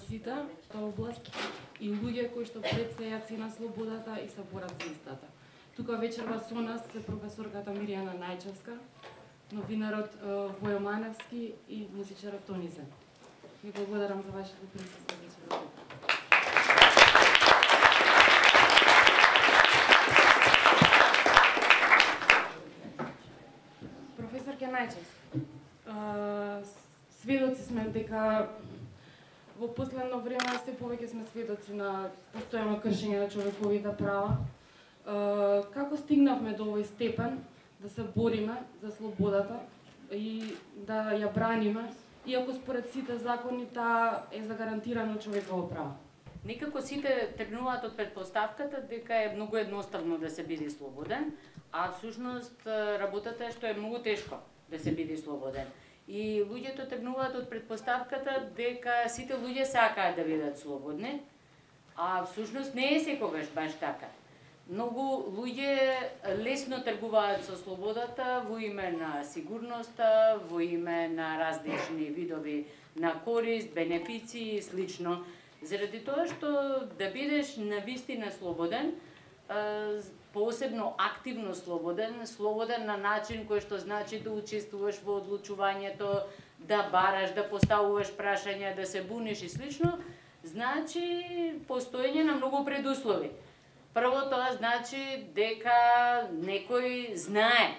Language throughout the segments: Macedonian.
сите тоа област и луѓе кои што претсејаци на слободата и се борат за истата. Тука вечерва со нас е професорката Мирјана Најчевска, новинарот Војо Маневски и музичарот Тонизе. Ви благодарам за вашето присуство вечерва. Професорке Најчевска, сведоци сме дека во последно време се повеќе сме сведоци на постојано кршење на човековите права. Како стигнавме до овој степен да се бориме за слободата и да ја браниме, иако според сите закони таа е загарантирано човеково право? Некако сите тргнуваат од претпоставката дека е многу едноставно да се биде слободен, а всушност работата е што е многу тешко да се биде слободен. И луѓето тргнуваат од претпоставката дека сите луѓе сакаат да бидат слободни, а всушност не е секогаш баш така. Многу луѓе лесно тргуваат со слободата во име на сигурноста, во име на различни видови на корист, бенефиции и слично. Заради тоа што да бидеш навистина слободен, посебно активно слободен, слободен на начин кој што значи да учествуваш во одлучувањето, да бараш, да поставуваш прашања, да се буниш и слично, значи постоење на многу предуслови. Прво тоа значи дека некој знае,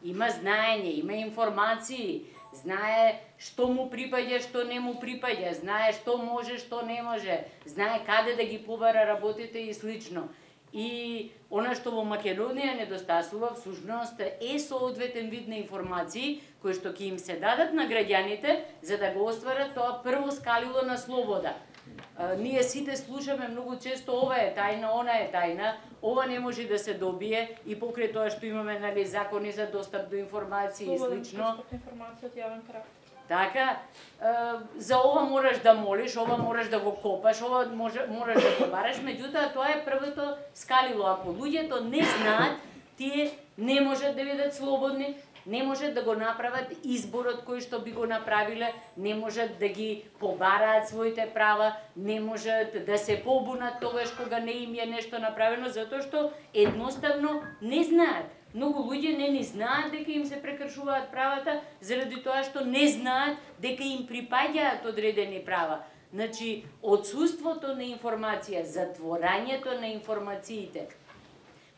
има знаење, има информации, знае што му припаѓа, што не му припаѓа, знае што може, што не може, знае каде да ги побара работите и слично. И она што во Македонија недостасува всушност е соодветен вид на информации кои што ќе им се дадат на граѓаните за да го остварат тоа прво скалило на слобода. Ние сите слушаме многу често ова е тајна, она е тајна, ова не може да се добие и покрај тоа што имаме закони за достап до информации и слично. Информација од јавен карактер. Така, за ова мораш да молиш, ова мораш да го копаш, ова мораш да го бараш, меѓутоа тоа е првото скалило. Ако луѓето не знаат, тие не можат да бидат слободни, не можат да го направат изборот кој што би го направиле, не можат да ги побараат своите права, не можат да се побунат тогаш кога не им е нешто направено, затоа што едноставно не знаат. Многу луѓе не ни знаат дека им се прекршуваат правата, заради тоа што не знаат дека им припаѓаат одредени права. Значи, отсуството на информација, затворањето на информациите,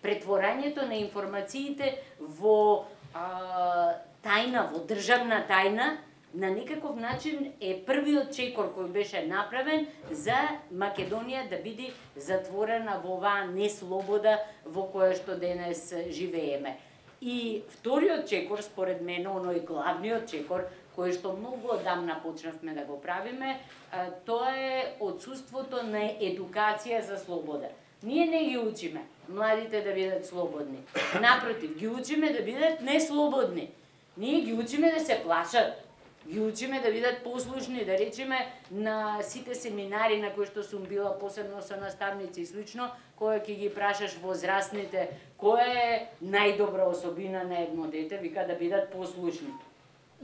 претворањето на информациите во тајна, во државна тајна, на некаков начин е првиот чекор кој беше направен за Македонија да биде затворена во оваа неслобода во која што денес живееме. И вториот чекор, според мене, оној главниот чекор, кој што многу одамна почнавме да го правиме, тоа е отсуството на едукација за слобода. Ние не ги учиме младите да бидат слободни. Напротив, ги учиме да бидат неслободни. Ние ги учиме да се плашат. Ги учиме да бидат послушни, да речеме на сите семинари на кои што сум била, посебно со наставници и слично, која ќе ги прашаш возрастните, која е најдобра особина на едно дете, вика да бидат послушни.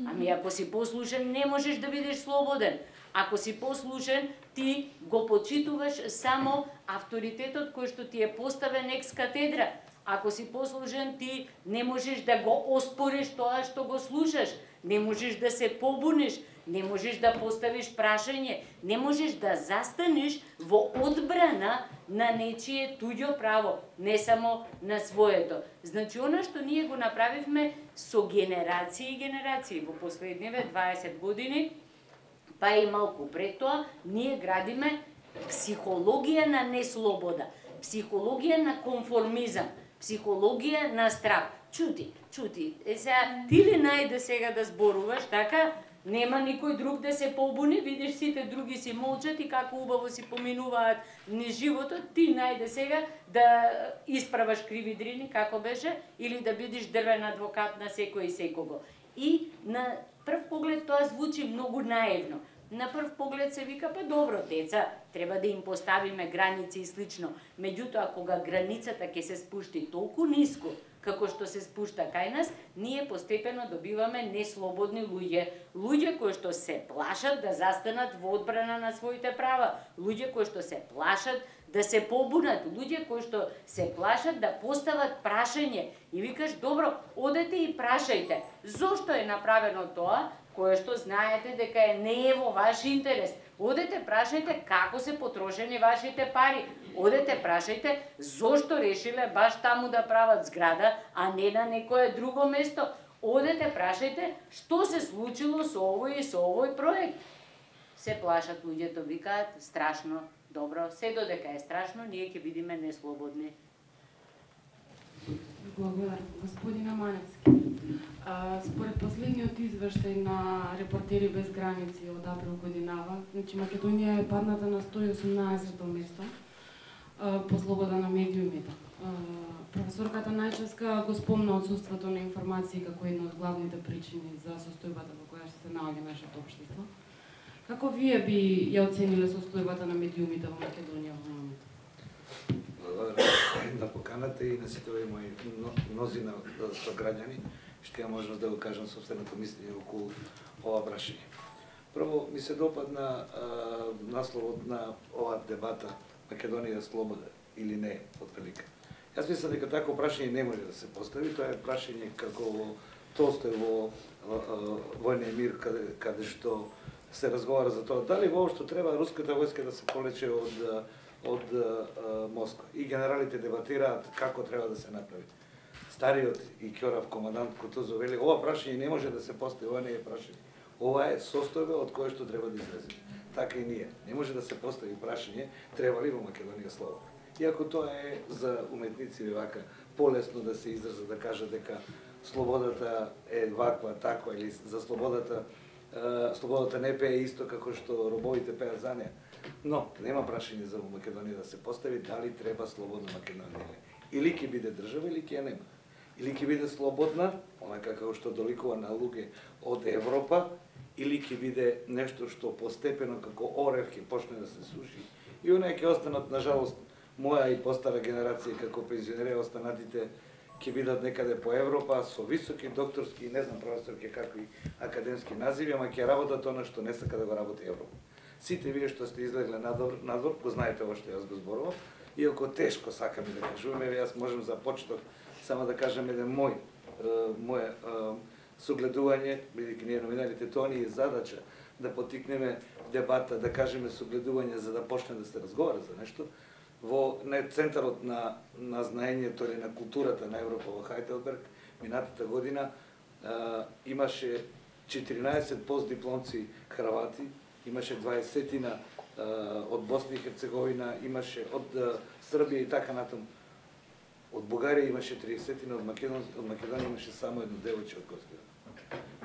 Ами ако си послушен, не можеш да бидеш слободен. Ако си послушен, ти го почитуваш само авторитетот кој што ти е поставен екс катедра. Ако си послушен, ти не можеш да го оспориш тоа што го слушаш, не можеш да се побуниш, не можеш да поставиш прашање, не можеш да застанеш во одбрана на нечие туѓо право, не само на своето. Значи, она што ние го направивме со генерации и генерации во последниве 20 години, па и малку пред тоа, ние градиме психологија на неслобода, психологија на конформизам, психологија на страх. Чути, сега ти ли најде сега да зборуваш, така, нема никој друг да се побуни, видиш сите други си молчат и како убаво си поминуваат низ животот, ти најде сега да исправаш криви дрини, како беше, или да бидеш дрвен адвокат на секој и секого. И на прв поглед тоа звучи многу наивно. На прв поглед се вика, па добро, деца, треба да им поставиме граници и слично. Меѓутоа, кога границата ќе се спушти толку ниско, како што се спушта кај нас, ние постепено добиваме неслободни луѓе. Луѓе кои што се плашат да застанат во одбрана на своите права, луѓе кои што се плашат да се побунат, луѓе кои што се плашат да постават прашање и викаш, добро, одете и прашајте, зошто е направено тоа, кое што знаете дека не е во ваш интерес. Одете прашајте како се потрошени вашите пари. Одете прашајте зошто решиле баш таму да прават зграда, а не на некое друго место. Одете прашајте што се случило со овој и со овој проект. Се плашат луѓето, викаат страшно. Добро, се додека е страшно, ние ќе бидеме неслободни. Благодарам, господина Маневски. Според последниот извештај на Репортери без граници од април годинава, значи Македонија е падната на 118-то место по слобода на медиумите. Професорката Најчевска го спомна отсуството на информации како една од главните причини за состојбата во која се наоѓа нашето општество. Како вие би ја оцениле состојбата на медиумите во Македонија во моментот? На поканата и на сите овие мои мнозина сограѓани, што ја можност да го кажам собственото мислење околу ова прашање. Прво, ми се допадна насловот на оваа дебата Македонија слобода или не, отприлика. Јас мислам дека такво прашање не може да се постави, тоа е прашање како во Толстој во Војниот мир, каде што се разговара за тоа дали воопшто треба руската војска да се полече од Москва. И генералите дебатираат како треба да се направи. Стариот и Кјорав командант Кутузов вели, ова прашање не може да се постави, ова не е прашање. Ова е состојба од кое што треба да излеземе. Така и ние. Не може да се постави прашање треба ли во Македонија слобода. Иако тоа е за уметници вака полесно да се израза, да кажа дека слободата е ваква, таква, или за слободата не пее исто како што робовите пеат за неа. Но нема прашање за Македонија да се постави дали треба слободна Македонија. Или ќе биде држава, или ќе нема. Или ќе биде слободна, онака како што доликува на луѓе од Европа, или ќе биде нешто што постепено како орев ќе почне да се суши. И оние ќе останат, на жалост, моја и постара генерација како пензионери, останатите ќе бидат некаде по Европа со високи докторски, не знам професорки какви академски називи, ама ќе работат она што не сака да го работи Европа. Сите вие што сте излегле надвор, го знаете ова што јас го зборувам, иако тешко сакаме да кажуваме, јас можем за почеток само да кажам еден моje согледување, бидејќи ние новинарите, тоа ни е задача да потикнеме дебата, да кажеме согледување за да почне да се разговара за нешто. Во центарот на знаењето или на културата на Европа во Хајделберг минатата година имаше 14 постдипломци хрвати, имаше 20 од Босна и Херцеговина, имаше од Србија и така натаму. Од Бугарија имаше 30, од Македонија имаше само едно девојче од Космира.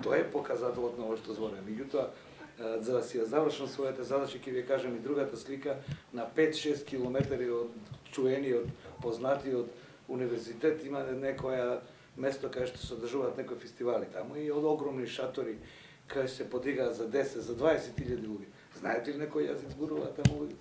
Тоа е показателот на ова што зборам. Меѓутоа, за да си ја завршам својата задача, ќе ви кажам и другата слика, на 5-6 километри од чуениот, познатиот универзитет има некоја место каде што се одржуваат некои фестивали таму и од огромни шатори каде се подигаат за 10, за 20.000 луѓе. Знаете ли некој јазик зборуваат таму луѓе?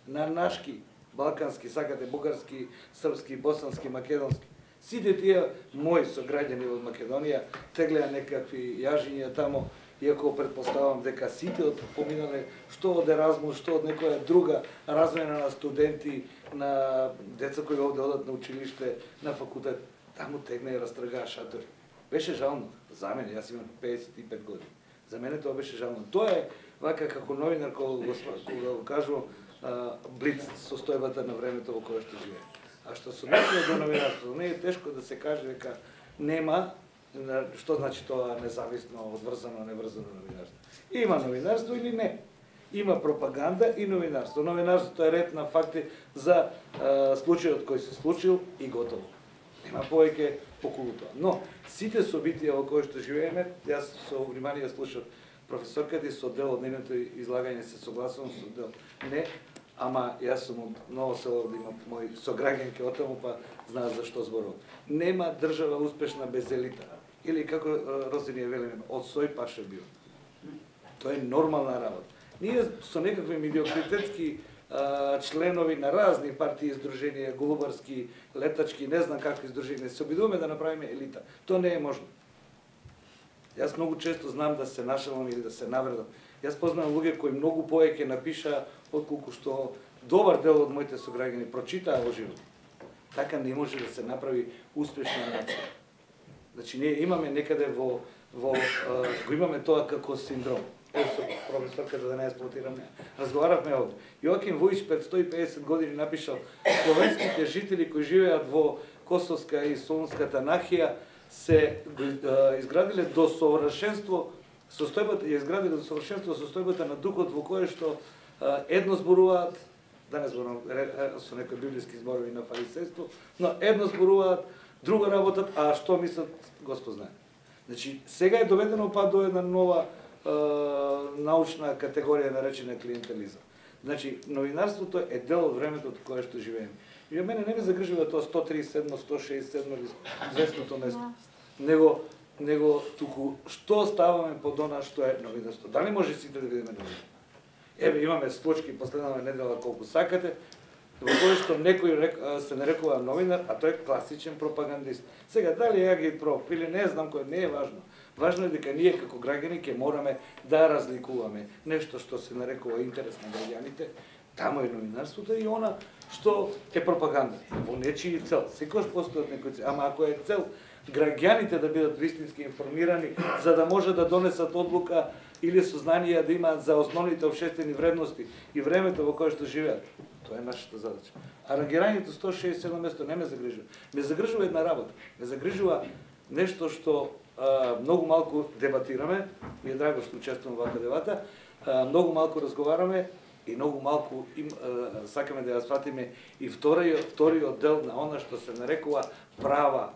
На нашки, балкански, сакате бугарски, српски, босански, македонски. Сите тие мои сограѓани од Македонија теглеа некакви јажиња таму, иако предпоставам дека сите поминале што од Еразмус, што од некоја друга размена на студенти, на деца кои овде одат на училиште, на факултет, таму тегна и растргаа шатори. Беше жално за мене, јас имам 55 години. За мене тоа беше жално. Тоа е вака како новинар кога го кажувам блиц состојбата на времето во кое што живеем. А што се однесува до новинарство, не е тешко да се каже дека нема, што значи тоа независно, одврзано, неврзано новинарство. Има новинарство или не. Има пропаганда и новинарство. Новинарството е ред на факти за случајот кој се случил и готово. Нема повеќе околу тоа. Но сите собитија во кои што живееме, јас со внимание слушав професорката и со дел од нейното излагање се согласувам, со дел не, ама јас сум од Ново село, да имам мои сограѓанки од таму, па знаат за што зборувам. Нема држава успешна без елита. Или како Росинија велиме, од сој паше бил. Тоа е нормална работа. Ние со некакви медиокритетски членови на разни партии, издруженија, голубарски, летачки, не знам какви издруженија, се обидуваме да направиме елита. Тоа не е можно. Јас многу често знам да се нашалам или да се навредам. Јас познавам луѓе кои многу повеќе напиша отколку што добар дел од моите сограѓани прочитаа во живот. Така не може да се направи успешна нација. Значи ние имаме некаде го имаме тоа како синдром. Со професорката да не експлоатирам неа. Разговаравме од Јоаким Вујич пред 150 години напишал: словенските жители кои живеат во Косовска и Солунската нахија се изградиле до совршенство состојбата на духот во кое што едно зборуваат, да не зборувам со некои библиски зборови на фарисејство, но едно зборуваат, друго работат, а што мислат Господ знае. Значи сега е доведено па до една нова научна категорија наречена клиентелизам. Значи новинарството е дел од времето од кое што живееме. И мене не ме загрижува тоа 137, 167 или 200 место. Него туку што ставаме под она што е новинарство. Дали може сите да видиме новини? Еве имаме случки последната недела колку сакате, во кој што некој се нарекува новинар, а тој е класичен пропагандист. Сега дали ја ги проф или не знам кој, не е важно. Важно е дека ние како граѓани ќе мораме да разликуваме нешто што се нарекува интерес на граѓаните, тамо е новинарството, и она што е пропаганда во нечии цел. Секогаш постојат некои цел, ама ако е цел граѓаните да бидат вистински информирани, за да може да донесат одлука или сознание да имаат за основните општествени вредности и времето во кое што живеат, тоа е нашата задача. А рангирањето 167 место не ме загрижува. Ме загрижува една работа. Ме загрижува нешто што многу малку дебатираме, ми е драго што учествувам во вака дебата, многу малку разговараме и многу малку сакаме да ја сватиме и вториот дел на она што се нарекува права,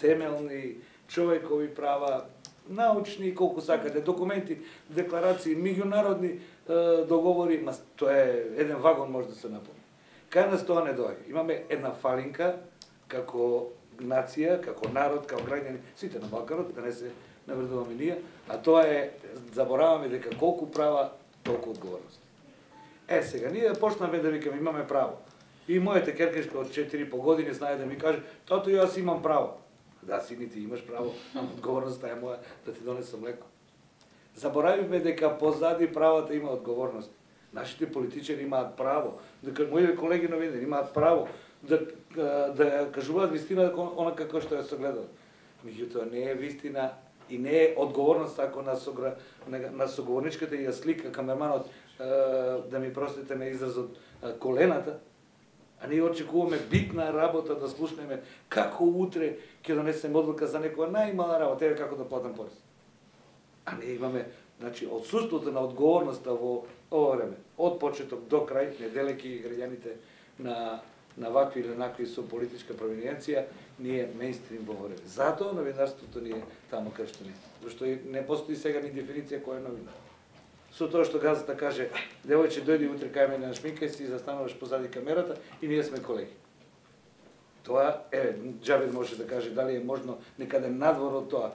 темелни, човекови права, научни, колку сакате, документи, декларации, меѓународни договори, тоа е еден вагон може да се наполни. Кај нас тоа не доаѓа. Имаме една фалинка како нација, како народ, како граѓани, сите на Балканот, да не се навредуваме ние, а тоа е, забораваме дека колку права, толку одговорности. Сега, ние почнаме да викаме, имаме право. И мојата керкешка од 4,5 години знае да ми каже: тато, јас имам право. Да, сините имаш право, а одговорноста е моја да ти донесам млеко. Заборавивме дека позади правата има одговорност. Нашите политичари имаат право, дека моите колеги новинари имаат право да кажуваат вистина она како што ја согледал. Меѓутоа не е вистина и не е одговорност ако на соговорничката ја слика камерманот, да ми простите на изразот, колената, а ние очекуваме битна работа да слушнеме како утре ќе донесеме одлука за некоја најмала работа, еве како да платам порез. А не имаме, значи, отсуството на одговорноста во ова време, од почеток до крај, не делејќи граѓаните на вакви или накви со политичка провиненција, ние мејнстрим во време. Затоа новинарството ни е тамо кај што не. Зашто не постои сега ни дефиниција кој е новинар. Со тоа што газата каже: девојче, дојди утре кај мене на шминка, си застануваш позади камерата и ние сме колеги. Тоа Џабир може да каже дали е можно некаде надвор од тоа.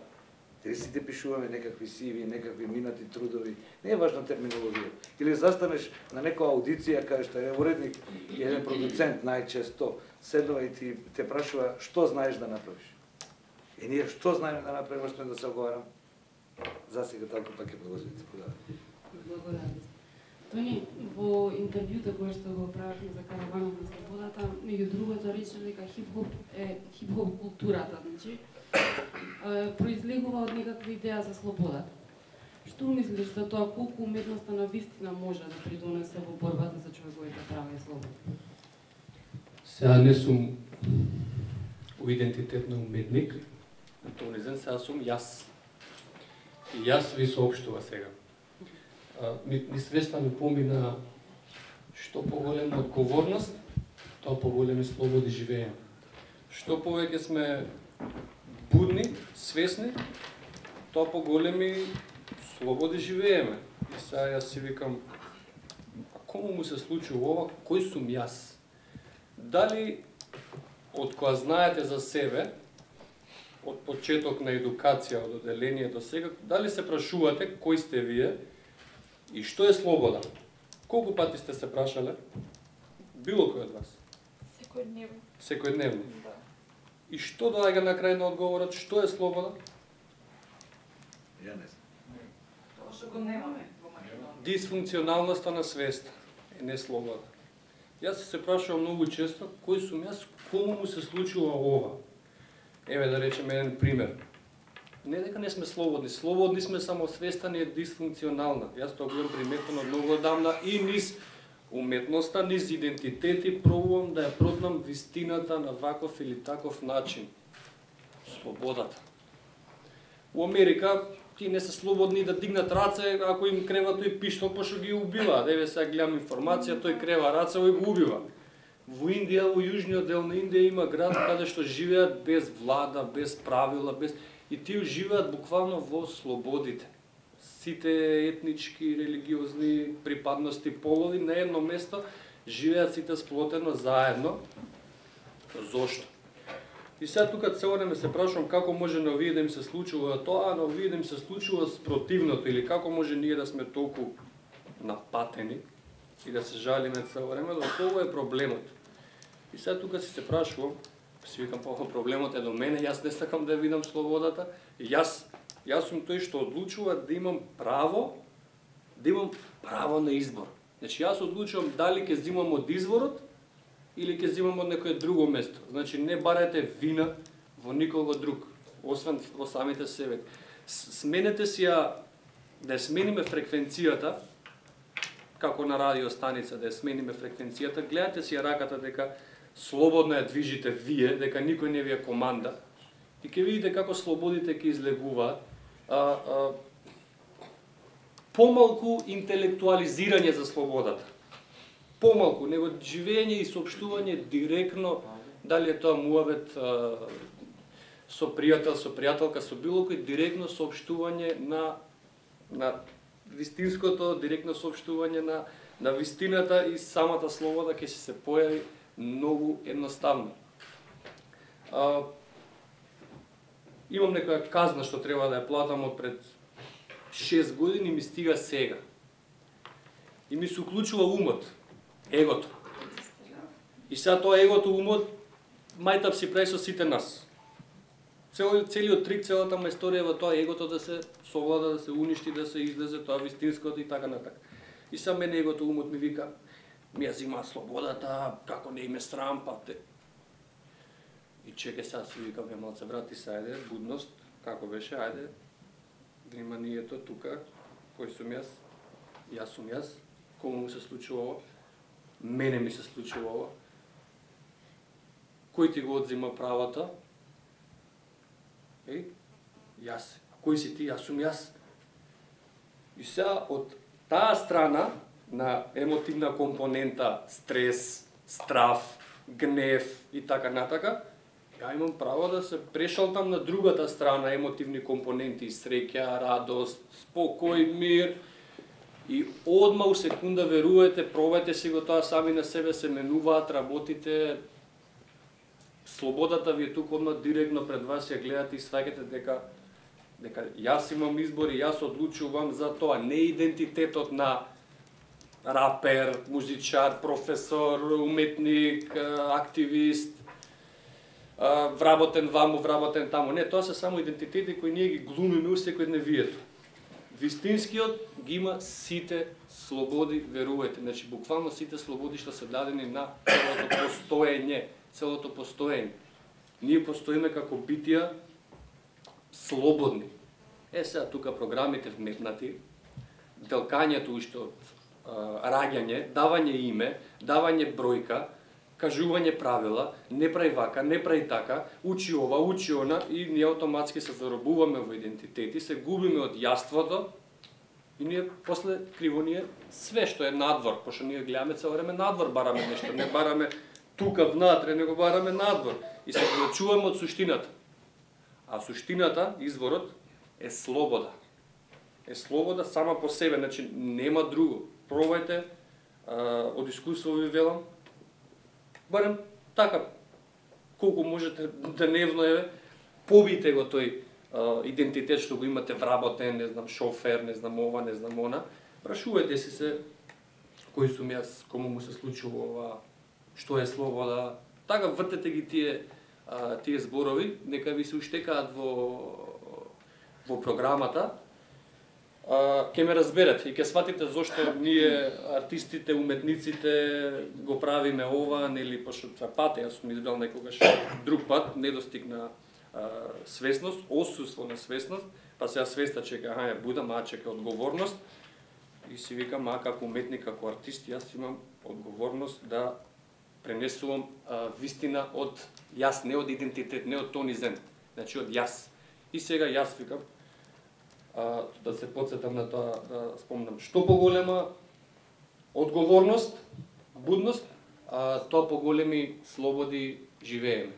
Дали сите пишуваме некакви CV, некакви минати трудови, не е важна терминологија. Или застанеш на некоја аудиција кај што е уредник и еден продуцент најчесто седнува и те прашува што знаеш да направиш. И ние што знаеме да направиме, што да се оговарам? Засега толку пак е продолжите. Благодарам. Тони, во интервјуто кое што го правевме за Караванот на слободата, меѓу другото рече дека хип-хоп е хип-хоп културата, значи произлегува од некаква идеја за слободата. Што мислиш за тоа, колку уметноста на вистина може да придонесе во борбата за човековите права и слобода? Сега не сум у идентитетно уметник, тонизен, сега сум јас. И јас ви соопштува сега. Ми свеста ми помина што поголема одговорност, тоа поголеми слободи живееме. Што повеќе сме будни, свесни, тоа поголеми слободи живееме. И сега јас си викам, а кому му се случи ова, кој сум јас? Дали од која знаете за себе, од почеток на едукација, од оделение до сега, дали се прашувате кој сте вие и што е слобода? Колку пати сте се прашале? Било кој од вас? Секојдневно. Секојдневно. Да. И што доаѓа на крај на одговорот? Што е слобода? Ја не знам. Тоа што го немаме во Македонија. Дисфункционалноста на свеста е не слобода. Јас се прашувам многу често кој сум јас, кому му се случува ова. Еве да речеме еден пример. Не дека не сме слободни, слободни сме, само свеста ни е дисфункционална. Јас тоа го имам приметено од многу одамна и низ уметноста, низ идентитети пробувам да ја продам вистината на ваков или таков начин. Слободата. У Америка ти не се слободни да дигнат раце ако им крева тој пиштол, пошто ги убива. Еве сега гледам информација, тој крева раце и го убива. Во Индија, во јужниот дел на Индија има град каде што живеат без влада, без правила, без и тие живеат буквално во слободите. Сите етнички, религиозни припадности, полови на едно место живеат сите сплотено заедно. Зошто? И сега тука цело време се прашувам како може на овие да им се случува тоа, а на овие да им се случува спротивното, или како може ние да сме толку напатени и да се жалиме цело време, да тоа е проблемот. И сега тука се прашувам, си викам, проблемот е до мене, јас не сакам да видам слободата, јас сум тој што одлучува да имам право на избор. Значи јас одлучувам дали ќе земам од изворот или ќе земам од некое друго место. Значи не барајте вина во никого друг, освен во самите себе. Сменете си ја, да ја смениме фреквенцијата, како на радиостаница, да ја смениме фреквенцијата, гледате си ја раката дека слободно ја движите вие, дека никој не ви е команда, и ќе видите како слободите ќе излегуваат. Помалку интелектуализирање за слободата. Помалку, него живење и соопштување директно, дали е тоа муавет со пријател, со пријателка, со било кој, директно соопштување на вистинското, директно соопштување на вистината, и самата слобода ќе се појави многу едноставно. Имам некоја казна што треба да ја платам од пред 6 години, ми стига сега. И ми се уклучува умот, егото. И сега тоа егото, умот, мајтап си прави со сите нас. Целиот трик, целата ма историја е во тоа егото да се совлада, да се уништи, да се излезе тоа вистинското и така натака. И сега мене егото, умот ми вика, ми ја зима слободата, како не име срам, па те. И чеке сега си викам, малце брати, са ајде, будност, како беше, ајде, вниманието тука, кој сум јас сум јас, кому му се случува ова, мене ми се случува ова, кој ти го одзима правата, јас, кој си ти, јас сум јас. И сега од таа страна на емотивна компонента, стрес, страв, гнев и така натака, ја имам право да се прешалтам на другата страна, емотивни компоненти, среќа, радост, спокој, мир. И одма у секунда, верувајте, пробајте си го тоа сами на себе, се менуваат работите. Слободата ви е тука одма директно пред вас, ја гледате и сваќате дека јас имам избор и јас одлучувам за тоа, не идентитетот на рапер, музичар, професор, уметник, активист, вработен ваму, вработен таму. Не, тоа се само идентитети кои ние ги глумиме у секојдневието. Вистинскиот ги има сите слободи, верувајте. Значи, буквално сите слободи што се дадени на целото постоење, целото постоење. Ние постоиме како битија слободни. Сега тука програмите вметнати, делкањето уште од раѓање, давање име, давање бројка, кажување правила, не прави вака, не прави така, учи ова, учи она, и ние автоматски се заробуваме во идентитети, се губиме од јаството, и ние после криво ние све што е надвор, пошто ние гледаме цело време надвор, бараме нешто, не бараме тука внатре, него бараме надвор, и се оддалечуваме од суштината. А суштината, изворот, е слобода. Е слобода сама по себе, значи нема друго. Пробајте, од искуство ви велам, барем така, колку можете дневно, побите го тој идентитет што го имате вработен, не знам, шофер, не знам ова, не знам она, прашувајте си се кој сум јас, кому му се случува ова, што е слобода. Така вртете ги тие зборови, нека ви се уштекаат во програмата. Ќе ме разберете и ќе сватите зошто ние артистите, уметниците го правиме ова, нели, пошто това пат, јас сум избрал некогаш друг пат, недостигна свесност, отсуство на свесност, па сега свеста чека, будам, чека одговорност и си викам, како уметник, како артист, јас имам одговорност да пренесувам вистина од јас, не од идентитет, не од Тони Зен, значи од јас. И сега јас викам, да се подсетам на тоа, да спомнам, што поголема одговорност, будност, тоа поголеми слободи живееме.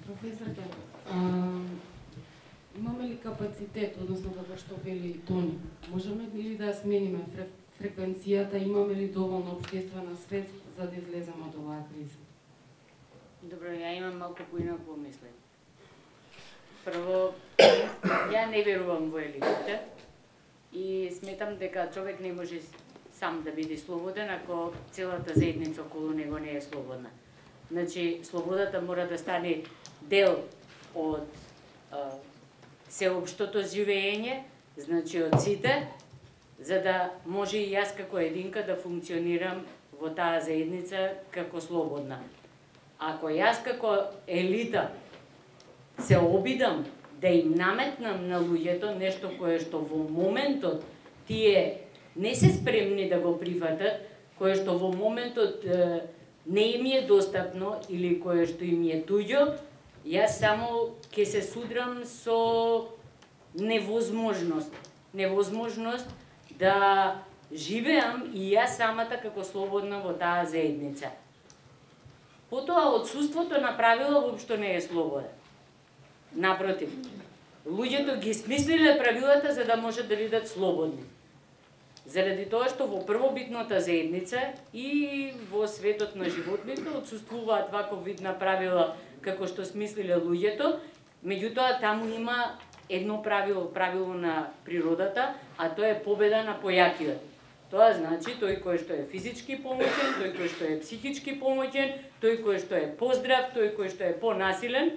Професор Ке, имаме ли капацитет, односно како што вели Тони, можеме ли да смениме фреквенцијата, имаме ли доволно општествена свест за да излеземе од оваа криза? Добро, ја имам малку поинако мислење. Прво, ја не верувам во елитите и сметам дека човек не може сам да биде слободен ако целата заедница околу него не е слободна. Значи, слободата мора да стане дел од сеопштото живење, значи од сите, за да може и јас како единка да функционирам во таа заедница како слободна. Ако јас како елита се обидам да им наметнам на луѓето нешто кое што во моментот тие не се спремни да го прифатат, кое што во моментот не им е достапно или кое што им е туѓо, јас само ќе се судрам со невозможност да живеам и јас самата како слободна во таа заедница. Потоа, отсуството на правила воопшто не е слобода. Напротив, луѓето ги смислиле правилата за да можат да бидат слободни. Заради тоа што во првобитната заедница и во светот на животните отсуствуваат ваков вид на правила како што смислиле луѓето, меѓутоа таму има едно правило на природата, а тоа е победа на појакиот. Тоа значи тој кој што е физички помоќен, тој кој што е психички помоќен, тој кој што е поздрав, тој кој што е понасилен,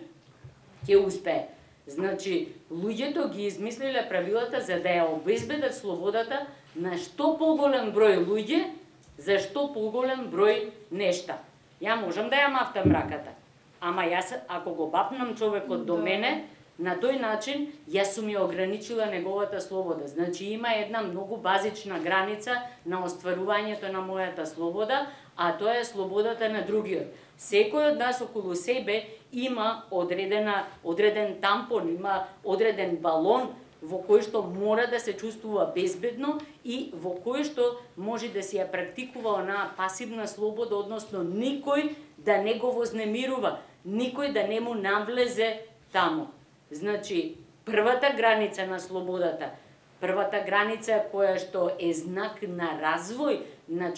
ќе успее. Значи, луѓето ги измислиле правилата за да ја обезбедат слободата на што поголем број луѓе, за што поголем број нешта. Ја можам да ја мафтам раката, ама јас ако го бапнам човекот до мене, на тој начин јас сум ја ограничила неговата слобода. Значи има една многу базична граница на остварувањето на мојата слобода, а тоа е слободата на другиот. Секој од нас околу себе има одреден тампон, има одреден балон во кој што мора да се чувствува безбедно и во кој што може да се ја практикува онаа пасивна слобода, односно никој да не го вознемирува, никој да не му навлезе таму. Значи, првата граница на слободата, првата граница која што е знак на развој на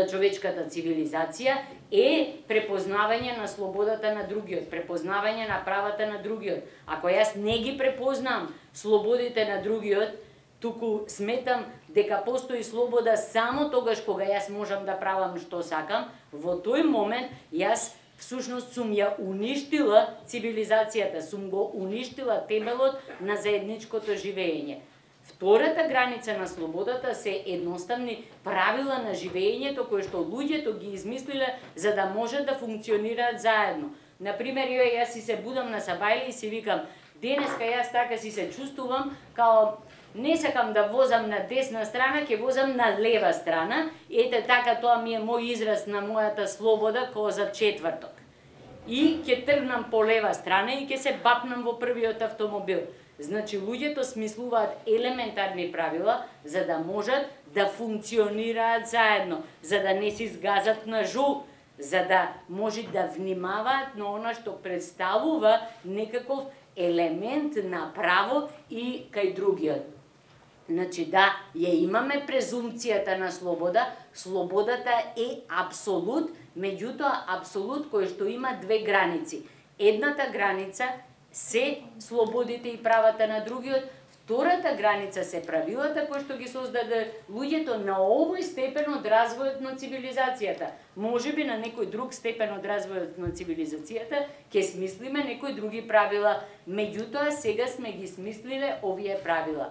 човечката цивилизација е препознавање на слободата на другиот, препознавање на правата на другиот. Ако јас не ги препознам слободите на другиот, туку сметам дека постои слобода само тогаш кога јас можам да правам што сакам, во тој момент јас всушност сум ја уништила цивилизацијата, сум го уништила темелот на заедничкото живење. Втората граница на слободата се едноставни правила на живењето кои што луѓето ги измислиле за да можат да функционираат заедно. Например, јас си се будам на сабајле и си викам, денеска јас така си се чувствувам као не сакам да возам на десна страна, ќе возам на лева страна. Ете така, тоа ми е мој израз на мојата слобода као за четврток. И ќе тргнам по лева страна и ќе се бапнам во првиот автомобил. Значи, луѓето смислуваат елементарни правила за да можат да функционираат заедно, за да не си сгазат ножу, за да може да внимаваат на она што представува некаков елемент на право и кај другиот. Значи, да, ја имаме презумпцијата на слобода, слободата е апсолут, меѓутоа апсолут кој што има две граници. Едната граница се слободите и правата на другиот, Втората граница се правилата кои што ги создаде луѓето на овој степен од развојот на цивилизацијата. Можеби на некој друг степен од развојот на цивилизацијата ќе смислиме некои други правила, меѓутоа сега сме ги смислиле овие правила.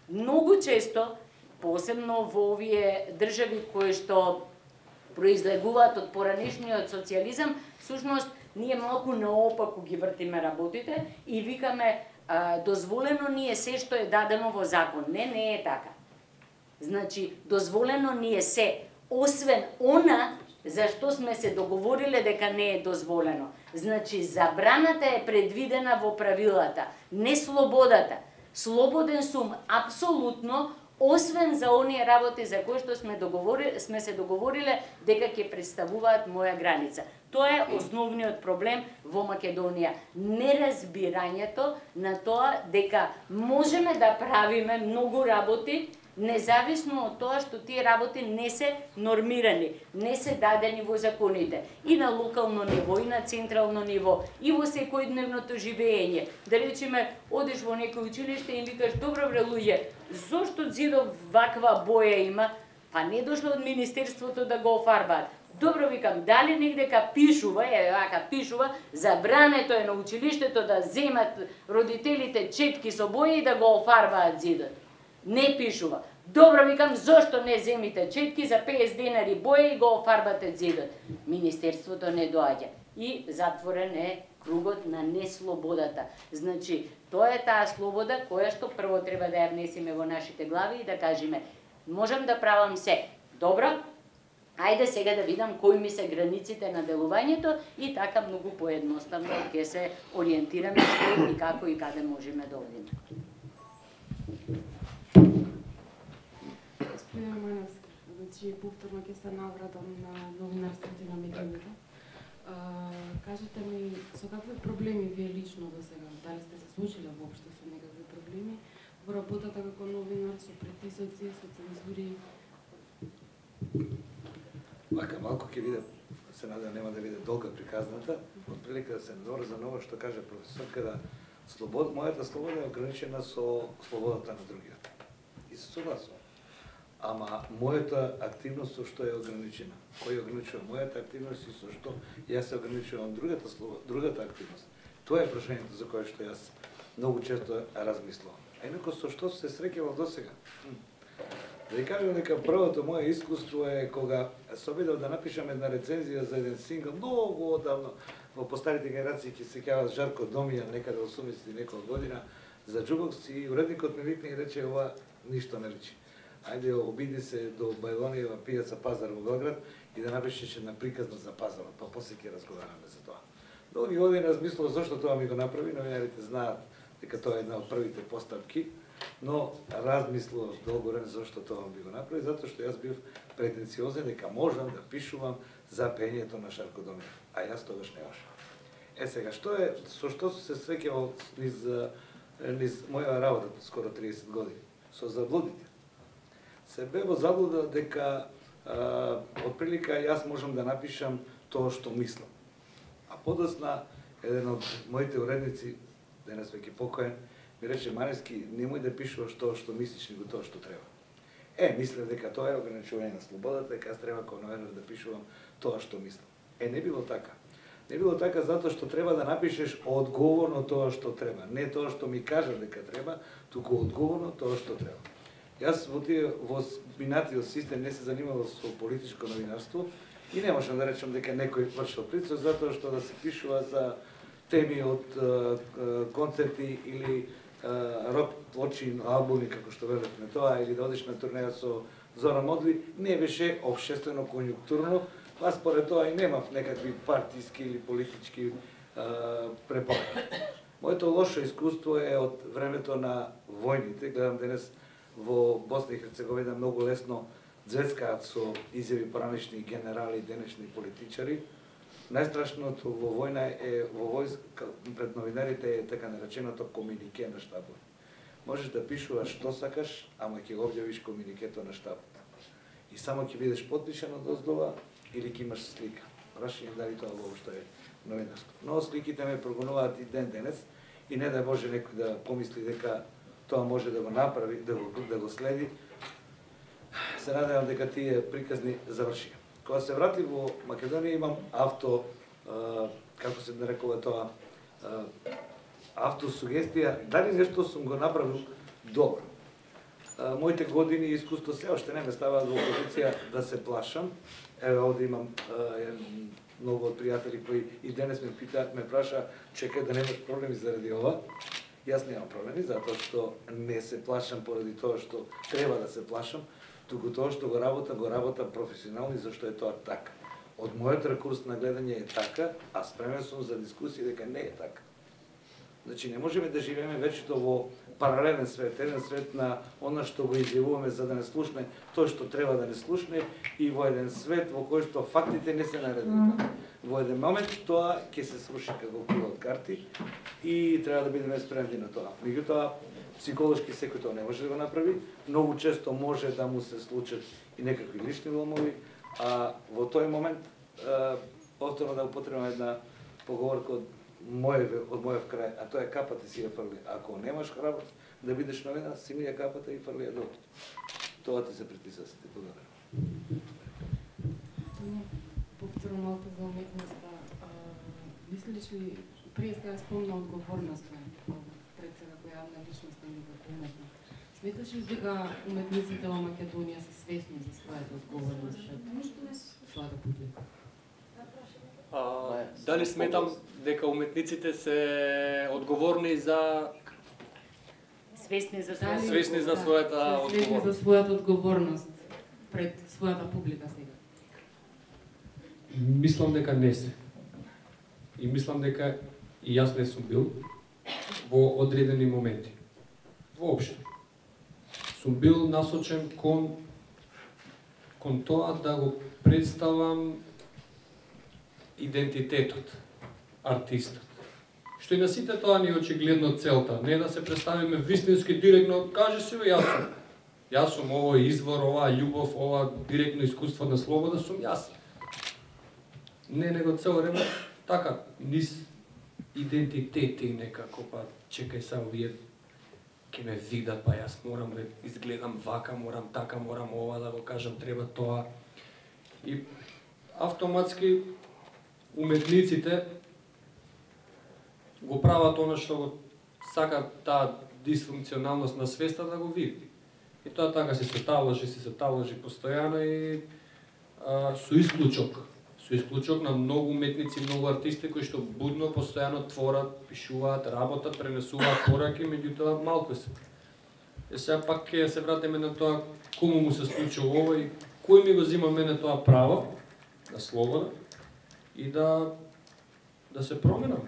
Многу често, посебно во овие држави кои што произлегуваат од поранешниот социјализам, всушност ние малку наопаку ги вртиме работите и викаме дозволено ни е се што е дадено во закон. Не е така. Значи, дозволено ни е се, освен она за што сме се договориле дека не е дозволено. Значи, забраната е предвидена во правилата, не слободата. Слободен сум апсолутно, освен за оние работи за кои што сме се договориле дека ќе представуваат моја граница. Тоа е основниот проблем во Македонија. Неразбирањето на тоа дека можеме да правиме многу работи, независно од тоа што тие работи не се нормирани, не се дадени во законите. И на локално ниво, и на централно ниво, и во секојдневното живење. Да речеме, одиш во некој училиште и викаш, добро бре луѓе, зошто зидов ваква боја има? Па не дошло од Министерството да го офарбаат. Добро, викам, дали негдека пишува, пишува, забрането е на училиштето да земат родителите четки со боја и да го офарбаат зидот. Не пишува. Добро, викам, зошто не земите четки за 50 денари боја и го офарбате зидот? Министерството не доаѓа. И затворен е кругот на неслободата. Значи, тоа е таа слобода која што прво треба да ја внесеме во нашите глави и да кажеме, можам да правам се. Добро, ајде сега да видам кои ми се границите на делувањето и така многу поедноставно ќе се ориентираме што и како и каде можеме да одиме. Господин Романовски, значи повторно ќе се навратам на новинарството и на медиумите. Кажете ми, со какви проблеми вие лично до сега, дали сте се случиле воопшто со некакви проблеми во работата како новинар, со притисоци, со цензури? Вака, малку ќе биде, се надам нема да биде долга приказната, отприлика да се наврза на ова што каже професорка, да мојата слобода е ограничена со слободата на другиот. И се согласувам. Ама мојата активност со што е ограничена? Кој ограничува мојата активност и со што јас се ограничувам другата активност? Тоа е прашањето за кое што јас многу често размислувам. А инако со што се среќавам досега? Да ви кажам дека првото моје искуство е кога се обидов да напишам една рецензија за еден сингл многу одавно, во постарите генерации ќе се сеќаваат Жарко Домијан, некаде 80 некоја година, за Jukebox и уредникот ми викна и рече, ова ништо не личи. Ајде, обиди се до Бајлониева пијаца Пазар во Белград и да напишеш една приказна за пазарот, па после ќе разговараме за тоа. Долги години размислував зашто тоа ми го направи, новинарите знаат дека тоа е една од првите постапки, но размислував долго време зашто тоа ми го направи, затоа што јас бив претенциозен дека можам да пишувам за пењето на Шарко Домијан, а јас тогаш не можам. Сега, со што се среќавал низ моја работа скоро 30 години? Со заблудите. Се бе во заблуда дека отприлика јас можам да напишам тоа што мислам. А подосна еден од моите уредници, денес веќе покоен, ми рече, Марески, немој да пишуваш тоа што мислиш, него тоа што треба. Мислев дека тоа е ограничување на слободата, дека јас треба како новинар да пишувам тоа што мислам. Не било така. Не било така затоа што треба да напишеш одговорно тоа што треба. Не тоа што ми кажа дека треба, туку одговорно тоа што треба. Јас во минатиот систем не се занимавал со политичко новинарство и не можам да речам дека некој вршил притисок затоа што да се пишува за теми од концерти или рок плочи, албуми, како што велевме тоа, или да одиш на турнеја со Зора Модли, не беше општествено конјунктурно, а според тоа и немав некакви партиски или политички препораки. Моето лошо искуство е од времето на војните, гледам денес во Босна и Херцеговина многу лесно звецкаат со изјави поранешни генерали, денешни политичари. Најстрашното во војна е, во војска пред новинарите е така нареченото комунике на штабот. Можеш да пишуваш што сакаш, ама ќе го објавиш комуникето на штабот. И само ќе бидеш потпишан од оздола или ќе имаш слика. Прашање дали тоа воопшто е новинарство. Но сликите ме прогонуваат и ден денес и не да може некој да помисли дека тоа може да го направи, да го следи. Се надевам дека тие приказни завршија. Кога се врати во Македонија имам како се нарекува тоа, автосугестија, дали нешто сум го направил добро. Моите години и искуство се уште не ме ставаат во позиција да се плашам. Еве овде имам многу од пријатели кои и денес ме питаат, ме праша, чекај да немаш проблеми заради ова. Јас немам проблеми, затоа што не се плашам поради тоа што треба да се плашам, туку тоа што го работам професионално и зашто е тоа така. Од мојот ракурс на гледање е така, а спремен сум за дискусија дека не е така. Значи, не можеме да живееме вечето во паралелен свет, еден свет на она што го изјавуваме за да не слушне тоа што треба да не слушне и во еден свет во кој што фактите не се наредени. Во еден момент тоа ќе се сруши како кула од карти и треба да бидеме спремни на тоа. Меѓутоа, психолошки секој тоа не може да го направи, многу често може да му се случат и некакви лични ломови, а во тој момент, повторно да употребам една поговорка од мојов крај, а тоа е капата си ја фрли. Ако немаш храброст да бидеш новина, си ми ја капата и фрли ја долу. Тоа ти се притиса, се ти благодарам. Повторно малку за уметноста. Мислиш ли, прije сега спомна одговорноста пред сега која јавна личност и како уметник. Сметаш ли дека уметниците во Македонија се свесни за својата одговорност пред својата публика? Дали сметам дека уметниците се одговорни за Свесни за својата Свесни за одговорност? својата одговорност пред својата публика сега. Мислам дека не се. И мислам дека и јас не сум бил во одредени моменти. Воопшто. Сум бил насочен кон тоа да го представам идентитетот, артистот. Што и на сите тоа ни очигледно целта, не да се представиме вистински директно, кажи си бе, јас сум овој извор, оваа љубов, ова директно искуство на слобода сум јас. Не, него цело време така, низ идентитети некако, па чекај са овие ќе ме видат, па јас морам да изгледам вака, морам така, морам ова да го кажам, треба тоа. И автоматски уметниците го прават она што го сака таа дисфункционалност на свеста да го види. И тоа така се таложи постојано и со исклучок на многу уметници, многу артисти кои што будно, постојано творат, пишуваат, работат, пренесуваат пораки, меѓутоа малку се. И сега пак ќе се вратиме на тоа кому му се случува ова и кој ми го зима мене тоа право на слобода и да се променам,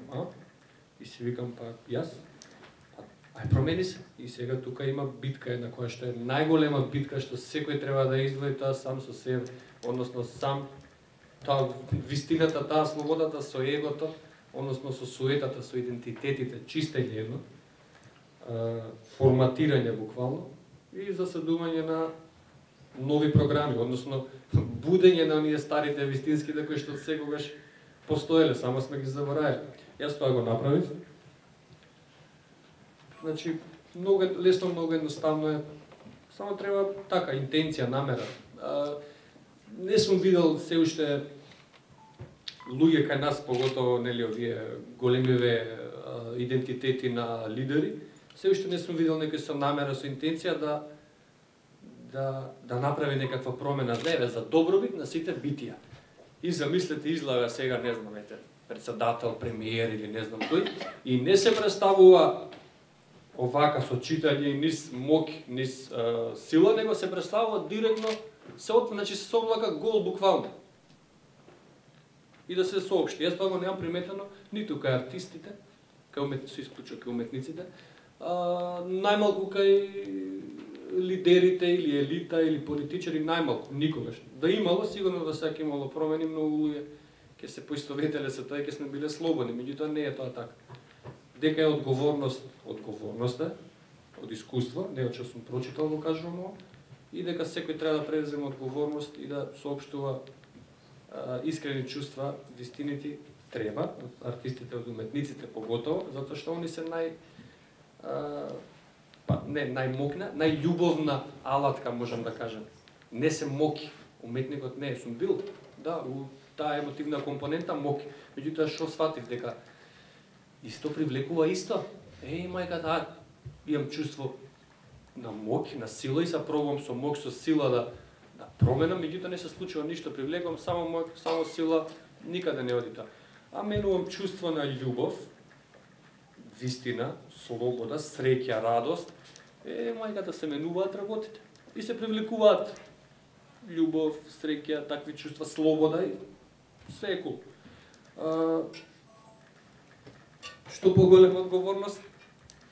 И си викам, па јас, ај промени се. И сега тука има битка една која што е најголема битка што секој треба да издвои тоа сам со себе, односно сам таа вистината, таа слободата со егото, односно со суетата, со идентитетите, чистење едно, форматирање буквално и заседување на нови програми, односно будење на оние старите вистинските кои што секогаш постоеле, само сме ги заборавили. Јас тоа го направив. Значи, многу лесно, многу едноставно е. Само треба така, интенција, намера. Не сум видел се уште луѓе кај нас, поготово нели овие големиве идентитети на лидери, се уште не сум видел некој со намера, со интенција да направи некаква промена за добробит на сите битија. И замислете, излага сега, не знам, председател, премиер или не знам тој, и не се представува овака со читање, низ мок, низ сила, него се представува директно, значи се облака гол буквално. И да се соопшти. Јас тоа го немам приметено ниту кај артистите, со исклучок кај уметниците, најмалку кај лидерите или елита или политичари, најмалку, никогаш. Да имало, сигурно да сега имало промени, многу луѓе ќе се поистоветеле со тоа и ќе сме биле слободни, меѓутоа не е тоа така. Дека е одговорност е, од искуство, не од што сум прочитал го кажувам ова, и дека секој треба да преземе одговорност и да соопштува искрени чувства, вистините треба, од артистите, од уметниците поготово, затоа што они се па не најмокна, најљубовна алатка можам да кажам. Не се моки, уметникот не сум бил, да, у таа емотивна компонента моки. Меѓутоа што сватив дека исто привлекува исто. Мајка, таа имам чувство на мок, на сила и се пробувам со мок, со сила да променам, меѓутоа не се случува ништо, привлекувам само мок, само сила, никаде не оди тоа. А менувам чувство на љубов, вистина, слобода, среќа, радост. Мајката се менуваат работите и се привлекуваат љубов, среќа, такви чувства, слобода и све е кул. Што поголема одговорност,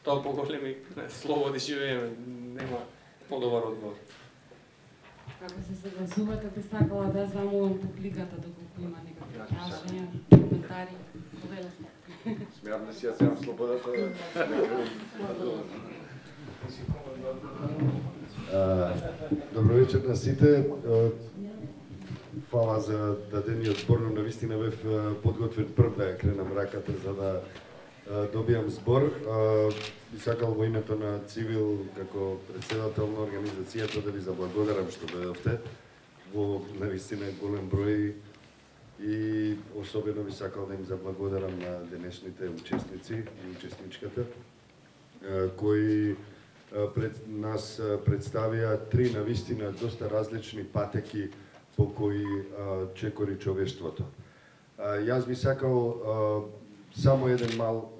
тоа поголеми слободи живееме, нема подобар одговор. Како се согласувате, би сакала да замолам публиката доколку има некакви прашања, коментари, повелете. Смеам да си ја земам слободата. Добро вечер на сите. Фала за дадениот збор, но навистина бев подготвен прв да ја кренам раката за да добијам збор. Би сакал во името на Цивил, како председател на организацијата, да ви заблагодарам што дојдовте во навистина голем број и особено би сакал да им заблагодарам на денешните учесници и учесничката кои пред нас представија три навистина доста различни патеки по кои чекори човештвото. Јас би сакал само еден мал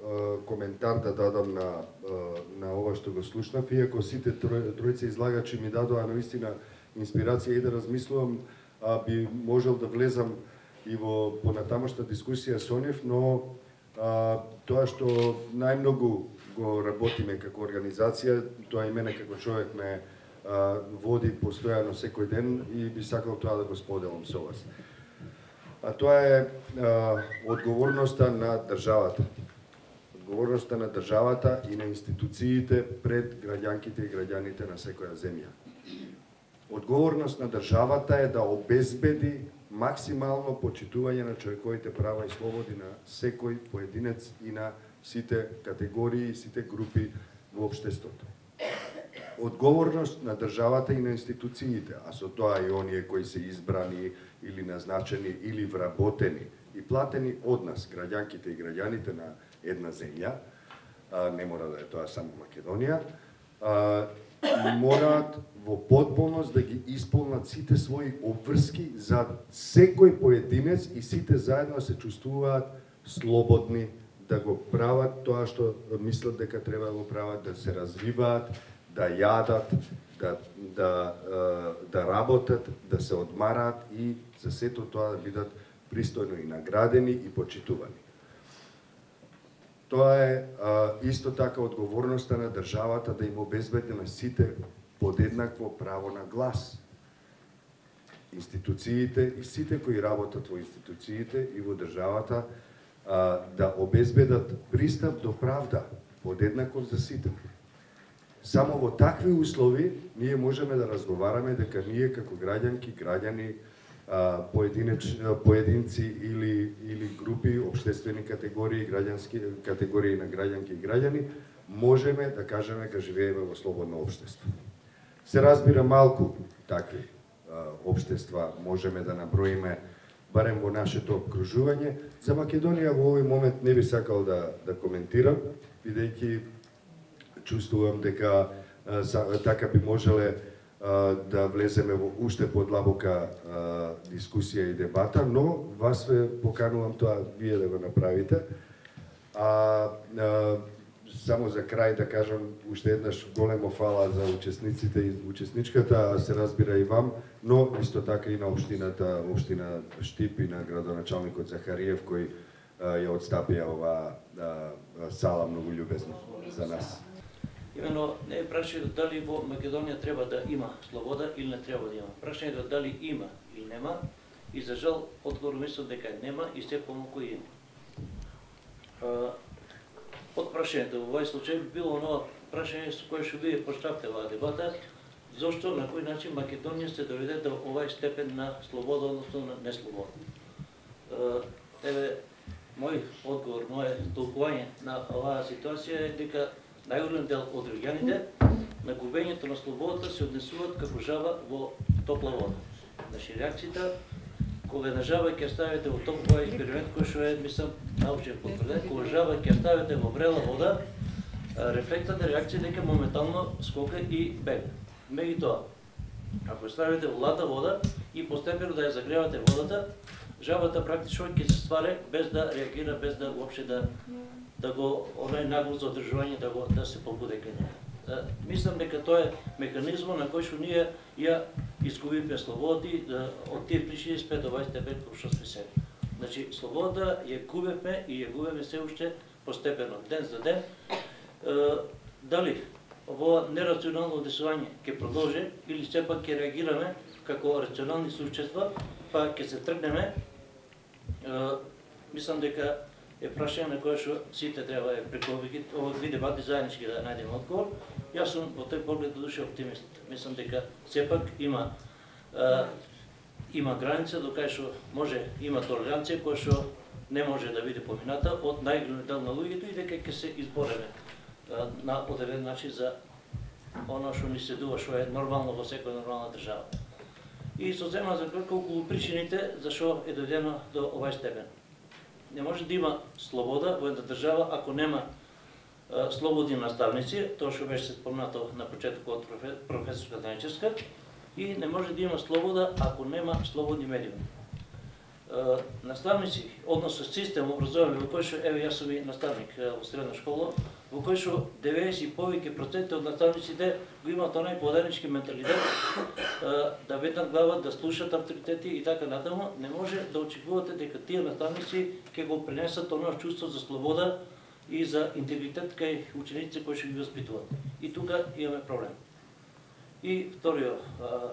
коментар да дадам на ова што го слушнав, иако сите тројца излагачи ми дадоа наистина инспирација и да размислувам, би можел да влезам и во понатамошна дискусија со нив, но тоа што најмногу го работиме како организација, тоа и мене како човек ме води постојано секој ден и би сакал тоа да го споделам со вас. А тоа е одговорноста на државата. Одговорноста на државата и на институциите пред граѓанките и граѓаните на секоја земја. Одговорност на државата е да обезбеди максимално почитување на човековите права и слободи на секој поединец и на сите категории и сите групи во општеството. Одговорност на државата и на институциите, а со тоа и оние кои се избрани или назначени или вработени и платени од нас, граѓанките и граѓаните на една земја, не мора да е тоа само Македонија, мораат во потполност да ги исполнат сите своји обврски за секој поединец и сите заедно се чувствуваат слободни да го прават тоа што мислат дека треба да го прават, да се развиваат, да јадат, да работат, да се одмараат и за сето тоа да бидат пристојно и наградени и почитувани. Тоа е исто така одговорноста на државата да им обезбеди на сите подеднакво право на глас. Институциите и сите кои работат во институциите и во државата да обезбедат пристап до правда подеднаков за сите. Само во такви услови ние можеме да разговараме дека ние како граѓанки, граѓани, поединци или групи, општествени категории, граѓански категории на граѓанки и граѓани, можеме да кажеме дека живееме во слободно општество. Се разбира малку такви општества можеме да наброиме барем во нашето окружување. За Македонија во овој момент не би сакал да коментирам, бидејќи чувствувам дека така би можеле да влеземе во уште подлабока дискусија и дебата, но вас ве поканувам тоа вие да го направите. Само за крај да кажам уште еднаш големо фала за учесниците и учесничката, се разбира и вам, но исто така и на општината, општина Штип и на градоначалникот Захариев кој ја отстапија оваа сала многу љубезно за нас. Имено не е прашањето дали во Македонија треба да има слобода или не треба да има. Прашањето дали има или нема и за жал одговор мислам дека нема и се помалку има. Од прашањето во овој случај било оно прашање со кое што вие почнавте оваа дебата, зошто на кој начин Македонија се доведе до овај степен на слобода, односно на неслобода. Еве мој одговор, моје толкување на оваа ситуација е дека најголем дел од граѓаните на губењето на слободата се однесуваат како жаба во топла вода. Значи реакцијата кога на жаба ќе ставите во топла експеримент кој што е мислам научен потврден, кога жаба ќе ставите во врела вода, рефлектната реакција дека моментално скока и бега. Меѓутоа, ако ставите во лата вода и постепено да ја загревате водата, жабата практично ќе се стваре без да реагира, без да воопште да го онај нагло задржување да се побуде кај неа. Мислам дека тоа е механизмот на кој што ние ја изгубивме слободата од тие причини спет овај степен кој што сме сега. Значи слободата ја губевме и ја губиме се уште постепено, ден за ден. Дали ово нерационално одесување ќе продолжи или сепак ќе реагираме како рационални существа, па ќе се тргнеме, мислам дека е прашање на кое што сите треба преку овие дебати заеднички да најдеме одговор. Јас сум во тој поглед до душа оптимист. Мислам дека сепак има граница до кај што има толеранција која што не може да биде помината од најголемиот дел на луѓето и дека ќе се избореме на одреден начин за оно што ни следува, што е нормално во секоја нормална држава. И се зема за кратко околу причините зашо е дојдено до овај степен. Не може да има слобода во една држава ако нема слободни наставници, тоа што беше спомнато на почетокот од професорка Даничевска, и не може да има слобода ако нема слободни медиуми. Наставници, односно систем образование во кој што еве јас сум и наставник во средна школа, во кој што 90 и повеќе проценти од наставниците го имаат онај поданицки менталитет, да ветнат глава, да слушат авторитети и така натаму, не може да очекувате дека тие наставници ќе го пренесат оно чувство за слобода и за интегритет кај учениците кои што ги воспитуваат. И тука имаме проблем. И вториот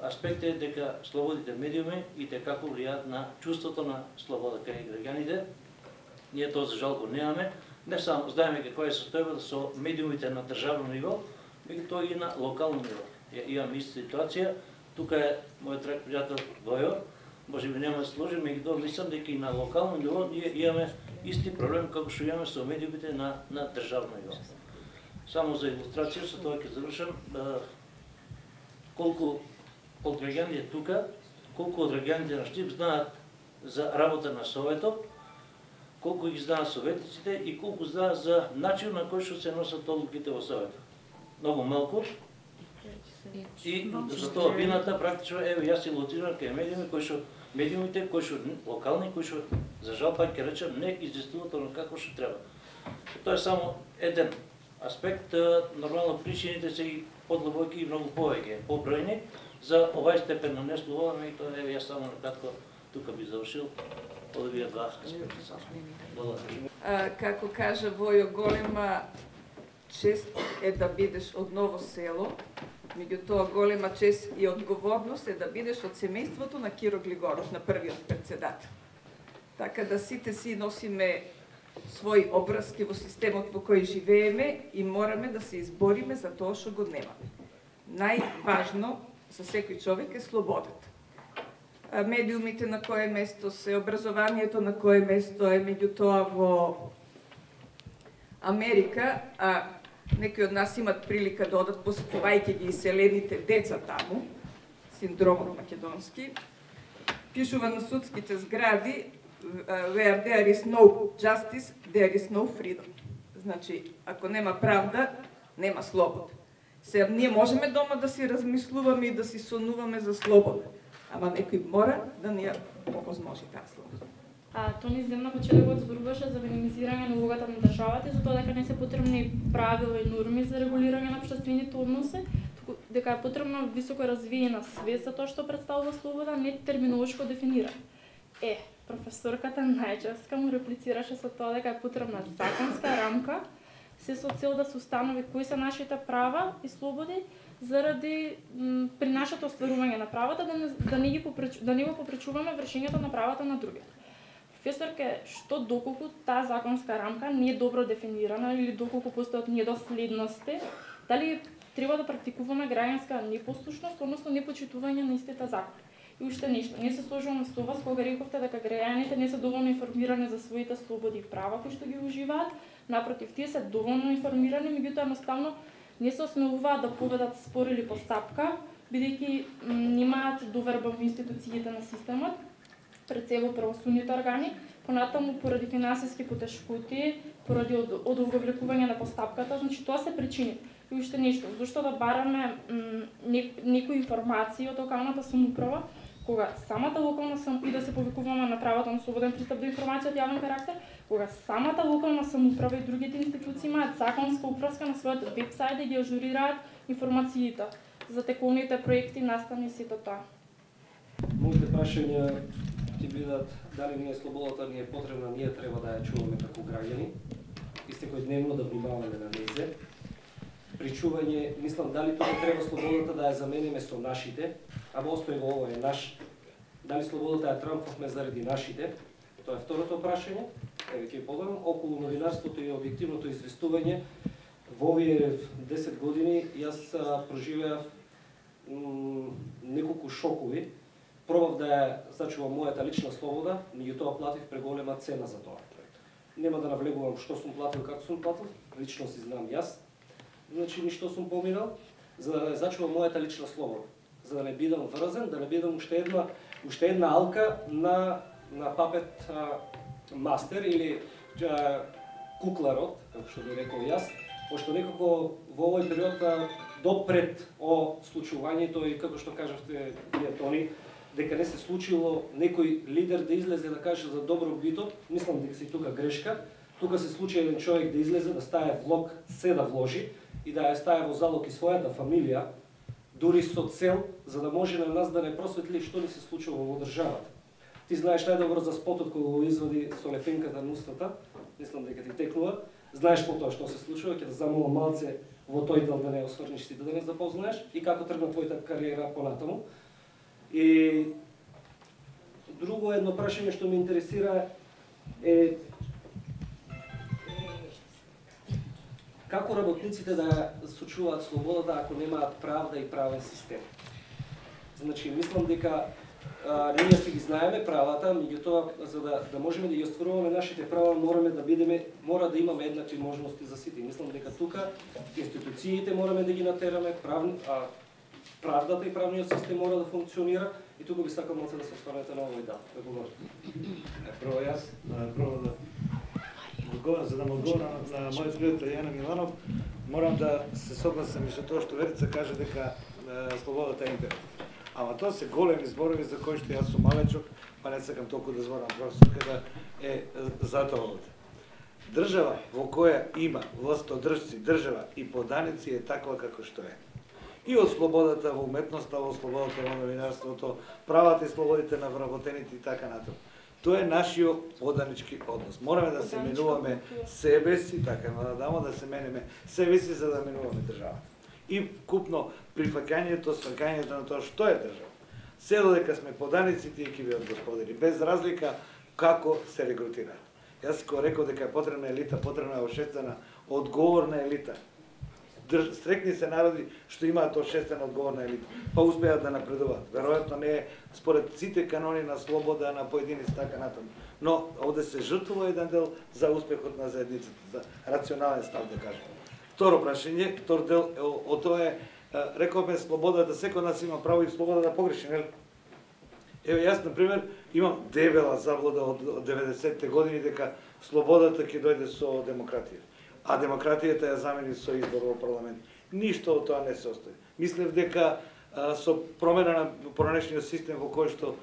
аспект е дека слободните медиуми и како влијаат на чувството на слобода кај граѓаните. Ние тоа за жал го немаме. Не само знаеме каква е состојбата со медиумите на државно ниво, меѓутоа и на локално ниво. Имаме иста ситуација. Тука е мојот драг пријател Војо. Може би нема да се сложи, меѓутоа мислам дека и на локално ниво ние имаме исти проблем како што имаме со медиумите на државно ниво. Само за илустрација, со тоа ќе завршам. Колку од граѓаните тука, колку од граѓаните на Штип знаат за работа на Советот, колку ги знаат советниците и колку знаат за начин на кој што се носат одлуките во Советот. Многу малку. И за тоа вината практично еве јас се лоцирам кај медиумите кои што локални, кои што за жал пак ќе речем не известуваат оно како што треба. Тоа е само еден аспект, нормално причините се и подлабоки и многу повеќе побројни за овај степен на неслобода, меѓутоа еве јас само накратко тука би завршил од овие два аспекта само. Благодарам. Како кажа Војо, голема чест е да бидеш од Ново село, меѓутоа голема чест и одговорност е да бидеш од семејството на Киро Глигоров, на првиот претседател. Така да сите си носиме своји обврски во системот во кој живееме и мораме да се избориме за тоа што го немаме. Најважно за секој човек е слободата. Медиумите на кое место се, образованието на кое место е, меѓутоа во Америка, некои од нас имат прилика да одат посетувајќи ги иселените деца таму, синдромот македонски, пишува на судските згради where there is no justice, there is no freedom. Значи, ако нема правда, нема слобода. Сега, ние можеме дома да си размислуваме и да си сонуваме за слобода, ама некој мора да ни ја овозможи таа слобода. Тони Земна почетокот зборуваше за минимизирање на улогата на државата и за тоа дека не се потребни правила и норми за регулирање на општествените односи, туку дека е потребна високо развиена свест за тоа што представува слобода, не терминолошко дефинира. Професорката Најчевска му реплицираше со тоа дека е потребна законска рамка, се со цел да се установи кои се нашите права и слободи, заради при нашето остварување на правата да не го попречуваме вршењето на правата на другите. Професорке, што доколку таа законска рамка не е добро дефинирана или доколку постојат недоследности, дали треба да практикуваме граѓанска непослушност, односно непочитување на истите закони? И уште нешто, не се сложувам со вас кога рековте дека граѓаните не се доволно информирани за своите слободи и права кои што ги уживаат, Напротив, тие се доволно информирани, меѓутоа едноставно не се осмелуваат да поведат спор или постапка, бидејќи немаат доверба во институциите на системот, пред се во правосудните органи, понатаму поради финансиски потешкоти, поради одолговлекување на постапката, значи тоа се причини. И уште нешто, зашто да бараме некои информации од локалната самоуправа, кога самата локална самоуправа, и да се повикуваме на правото на слободен пристап до информација од јавен карактер, кога самата локална самоуправа и другите институции имаат законска упраска на својот вебсајт да ги ажурираат информациите за тековните проекти, настани и сето тоа. Моите прашања ќе бидат дали ние слободата ни е потребна, ние треба да ја чуваме како граѓани и секојдневно да внимаваме на незе. Причување, мислам дали тоа треба слободата да ја замениме со нашите, аба оспрево ово е наш, дали слободата ја трампавме заради нашите, тоа е второто прашање. Еве ќе подобрам околу новинарството и објективното известување. Во овие 10 години јас проживеав неколку шокови. Пробав да ја зачувам мојата лична слобода, меѓутоа платив преголема цена за тоа. Нема да навлегувам што сум платил, како сум платил, лично си знам јас. Значи ништо сум поминал за да не зачувам мојата лична слобода, за да не бидам врзан, да не бидам уште една алка на папет мастер или кукларот, како што би рекол јас, пошто некако во овој период допред о случувањето и како што кажавте вие Тони, дека не се случило некој лидер да излезе да каже за добро бито, мислам дека си тука грешка. Тука се случи еден човек да излезе, да стае влог, се да вложи и да ја стае во залог и својата фамилија, дури со цел за да може на нас да не просветли што ни се случува во државата. Ти знаеш најдобро за спотот кога го извади со лепенката на устата, мислам дека ти текнува, знаеш по тоа што се случува, ќе да замолам малце во тој дел да не осврниш сите да не запознаеш и како тргна твојата кариера понатаму. И друго едно прашање што ме интересира е како работниците да сочуваат слободата ако немаат правда и правен систем. Значи, мислам дека ние си ги знаеме правата, меѓутоа за да можеме да ги остваруваме нашите права мора да имаме еднакви можности за сите. Мислам дека тука институциите мораме да ги натераме, правдата и правниот систем мора да функционира и тука би сакал малце да се осврнете на овој дел. Прво јас, за да му одговорам на мојот пријател Јана Миланов, морам да се согласам и со тоа што Верица каже дека слободата е императив. Ама тоа се големи зборови за кои што јас сум малечок, па не сакам толку да зборам професорка да е затоа овде. Држава во која има властодржци, држава и поданици е таква како што е. И од слободата во уметноста, од слободата во новинарството, правата и слободите на вработените и така натаму. Тоа е нашиот поданички однос. Мораме да се менуваме себе си, така да се менеме себе си за да менуваме државата. И купно прифаќањето, сваќањето на тоа што е држава. Се додека сме поданици, тие ќе бидат господари, без разлика како се регрутираат. Јас го рекол дека е потребна елита, потребна е обшествена, одговорна елита. Стрекни се народи што имаат обшествена одговорна елита, па успеат да напредуваат. Веројатно не е според сите канони на слобода на поединици така натаму. Но овде се жртвува еден дел за успехот на заедницата, за рационален став да кажем. Второ прашање, втор дел од тоа е, рековме слобода да секој нас има право и слобода да погреши, нели? Еве јас на пример имам дебела заблуда од 90-те години дека слободата ќе дојде со демократија, а демократијата ја замени со избор во парламент. Ништо од тоа не се остави. Мислев дека со промена на пронешниот систем во кој што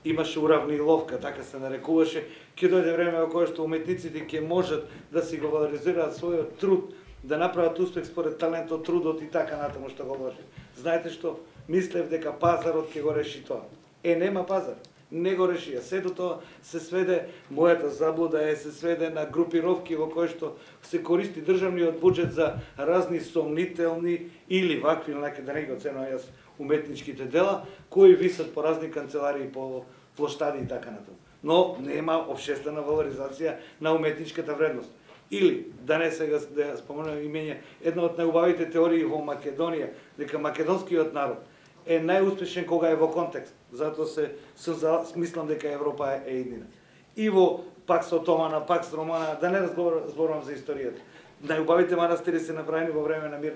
имаше уравниловка, така се нарекуваше, ќе дојде време во кое што уметниците ќе можат да си го валоризираат својот труд, да направат успех според талентот, трудот и така натаму што го вложи. Знаете што? Мислев дека пазарот ќе го реши тоа. Нема пазар. Не го реши. Сето тоа се сведе, мојата заблуда се сведе на групировки во кои што се користи државниот буџет за разни сомнителни или вакви, да не го ценувам јас уметничките дела, кои висат по разни канцеларии, по плоштади и така натаму. Но нема обшествена валоризација на уметничката вредност. Или, да не сега да споменувам имење, една од најубавите теории во Македонија, дека македонскиот народ е најуспешен кога е во контекст. Затоа мислам дека Европа е едина. И во пак со Отомана, пак со Романа, да не зборувам за историјата. Најубавите манастири се направени во време на мир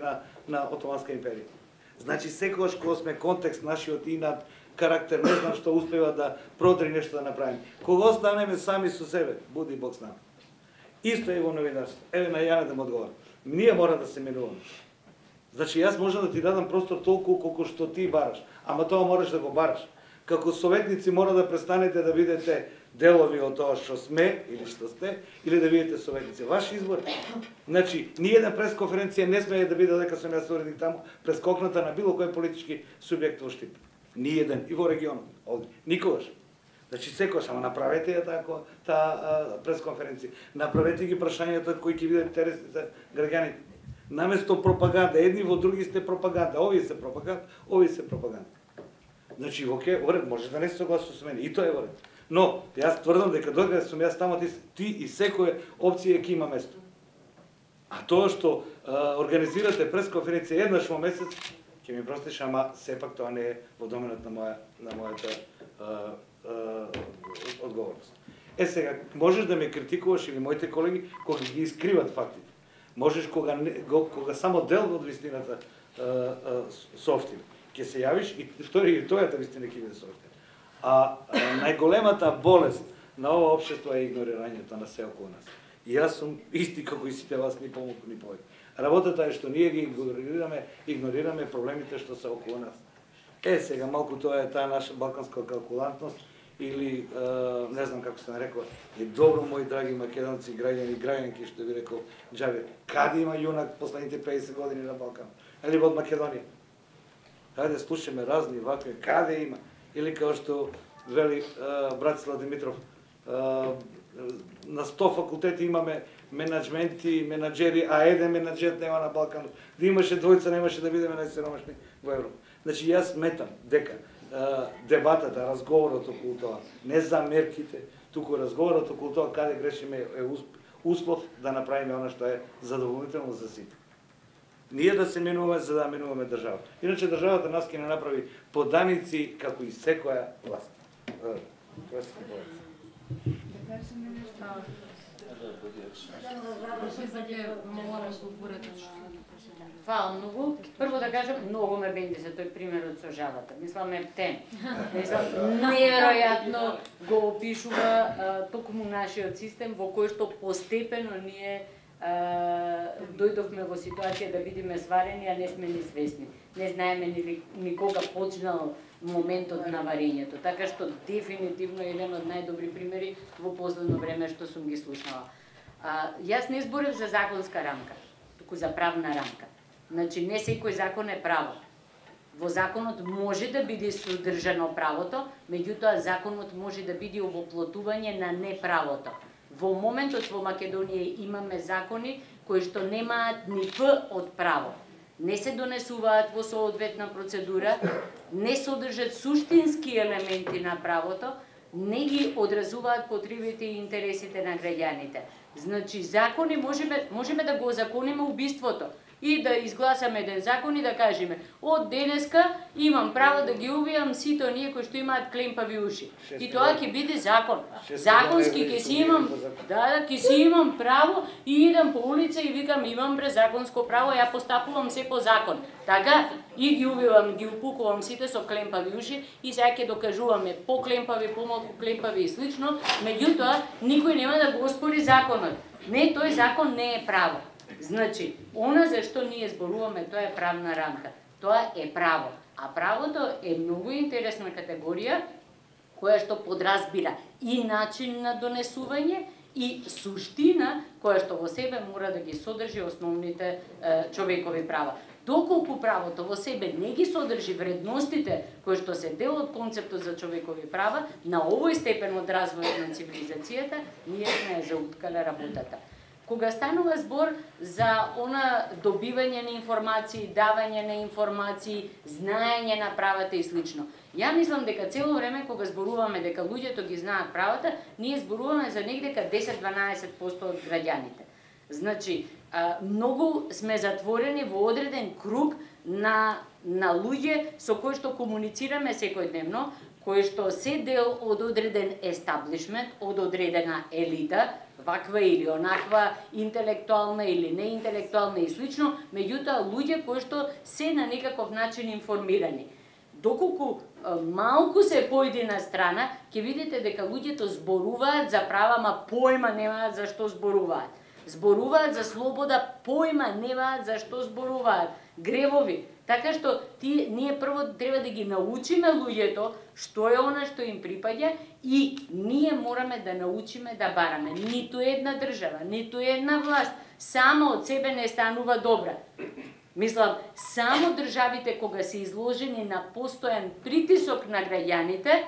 на Отоманска империја. Значи секогаш кога сме контекст нашиот инат, карактер, не знам што успева да продри нешто да направи. Кога останеме сами со себе, буди Бог с нами. Исто е во новинарство. Еве на Јана да му одговор. Ние мора да се менуваме. Значи јас можам да ти дадам простор толку колку што ти бараш, ама тоа мораш да го бараш. Како советници мора да престанете да бидете делови од тоа што сме или што сте, или да бидете советници. Ваш избор. Значи, ни една пресконференција не смее да биде дека сум јас уредник таму, прескокната на било кој политички субјект во Штип. Ни еден, и во регионот, овде. Никогаш. Значи, секогаш, ама направете ја таа пресконференција. Направете ги прашањата кои ќе бидат интересни за граѓаните. Наместо пропаганда, едни во други сте пропаганда, овие се пропаганда, овие се пропаганда. Значи, оке, оред, може да не се согласува со мене, и тоа е оред. Но, јас тврдам дека додека сум јас таму, ти и секоја опција ќе има место. А тоа што организирате пресконференција еднаш во месец, ќе ми простиш, ама сепак тоа не е во доменот на мојата одговорност. Сега, можеш да ме критикуваш или моите колеги кога ги искриват фактите. Можеш кога само дел од вистината соопштиме. Ќе се јавиш и тојата вистина ќе биде соопштена. А најголемата болест на ова општество е игнорирањето на се околу нас. И јас сум исти како и сите вас, ни помалку ни повеќе. Работата е што ние ги игнорираме проблемите што се околу нас. Сега малку тоа е таа наша балканска калкулантност или не знам како се нарекува. И добро, мои драги македонци, граѓани и граѓанки, што ви рекол Џавер, каде има јунак последните 50 години на Балкан? Или од Македонија? Хајде слушаме разни вакви, каде има? Или како што вели Братислав Димитров, на 100 факултети имаме менаџменти, менаџери, а еден менаџер нема на Балкан. Да имаше двојца, немаше да бидеме најсиромашни во Европа. Значи јас сметам дека дебатата, разговорот околу тоа, не замерките, туку разговорот околу тоа каде грешиме е услов да направиме она што е задоволително за сите. Ние да се менуваме за да менуваме држава. Иначе државата нас ќе не направи поданици како и секоја власт. Тоа се Фала многу. Прво да кажам, многу ме бенди за тој примерот со жабата. Мислам ептен. Мислам, неверојатно го опишува токму нашиот систем во кој што постепено ние дојдовме во ситуација да бидеме сварени, а не сме ни свесни. Не знаеме ни кога почнал моментот на варењето. Така што дефинитивно е еден од најдобри примери во последно време што сум ги слушнала. Јас не зборев за законска рамка, туку за правна рамка. Значи, не секој закон е право. Во законот може да биде содржано правото, меѓутоа законот може да биде овоплотување на неправото. Во моментот во Македонија имаме закони кои што немаат ни п од право. Не се донесуваат во соодветна процедура, не содржат суштински елементи на правото, не ги одразуваат потребите и интересите на граѓаните. Значи, закони можеме да го озакониме убиството и да изгласаме еден закон и да кажеме од денеска имам право да ги убијам сите оние кои што имаат клемпави уши. И тоа ќе биде закон. Законски ќе си имам, ќе си имам право и идам по улица и викам имам презаконско право, ја постапувам се по закон. Така и ги убивам, ги упукувам сите со клемпави уши и сега ќе докажуваме по-клемпави, помалку клемпави и слично, меѓутоа никој нема да го оспори законот. Не, тој закон не е право. Значи, она за што ние зборуваме, тоа е правна рамка. Тоа е право. А правото е многу интересна категорија, која што подразбира и начин на донесување, и суштина, која што во себе мора да ги содржи основните човекови права. Доколку правото во себе не ги содржи вредностите кои што се дел од концептот за човекови права, на овој степен од развојот на цивилизацијата, ние сме зауткале работата. Кога станува збор за она добивање на информации, давање на информации, знаење на правата и слично, ја мислам дека цело време кога зборуваме дека луѓето ги знаат правата, ние зборуваме за негдека 10-12% од граѓаните. Значи, многу сме затворени во одреден круг на луѓе со кои што комуницираме секојдневно, кои што се дел од одреден естаблишмент, од одредена елита, ваква или онаква, интелектуална или неинтелектуална и слично, меѓутоа луѓе кои што се на некаков начин информирани. Доколку малку се појде на страна, ќе видите дека луѓето зборуваат за права, ма појма немаат за што зборуваат. Зборуваат за слобода, појма немаат за што зборуваат. Гревови. Така што ние прво треба да ги научиме луѓето што е она што им припаѓа и ние мораме да научиме да бараме. Ниту една држава, ниту една власт само од себе не станува добра. Мислам, само државите кога се изложени на постојан притисок на граѓаните,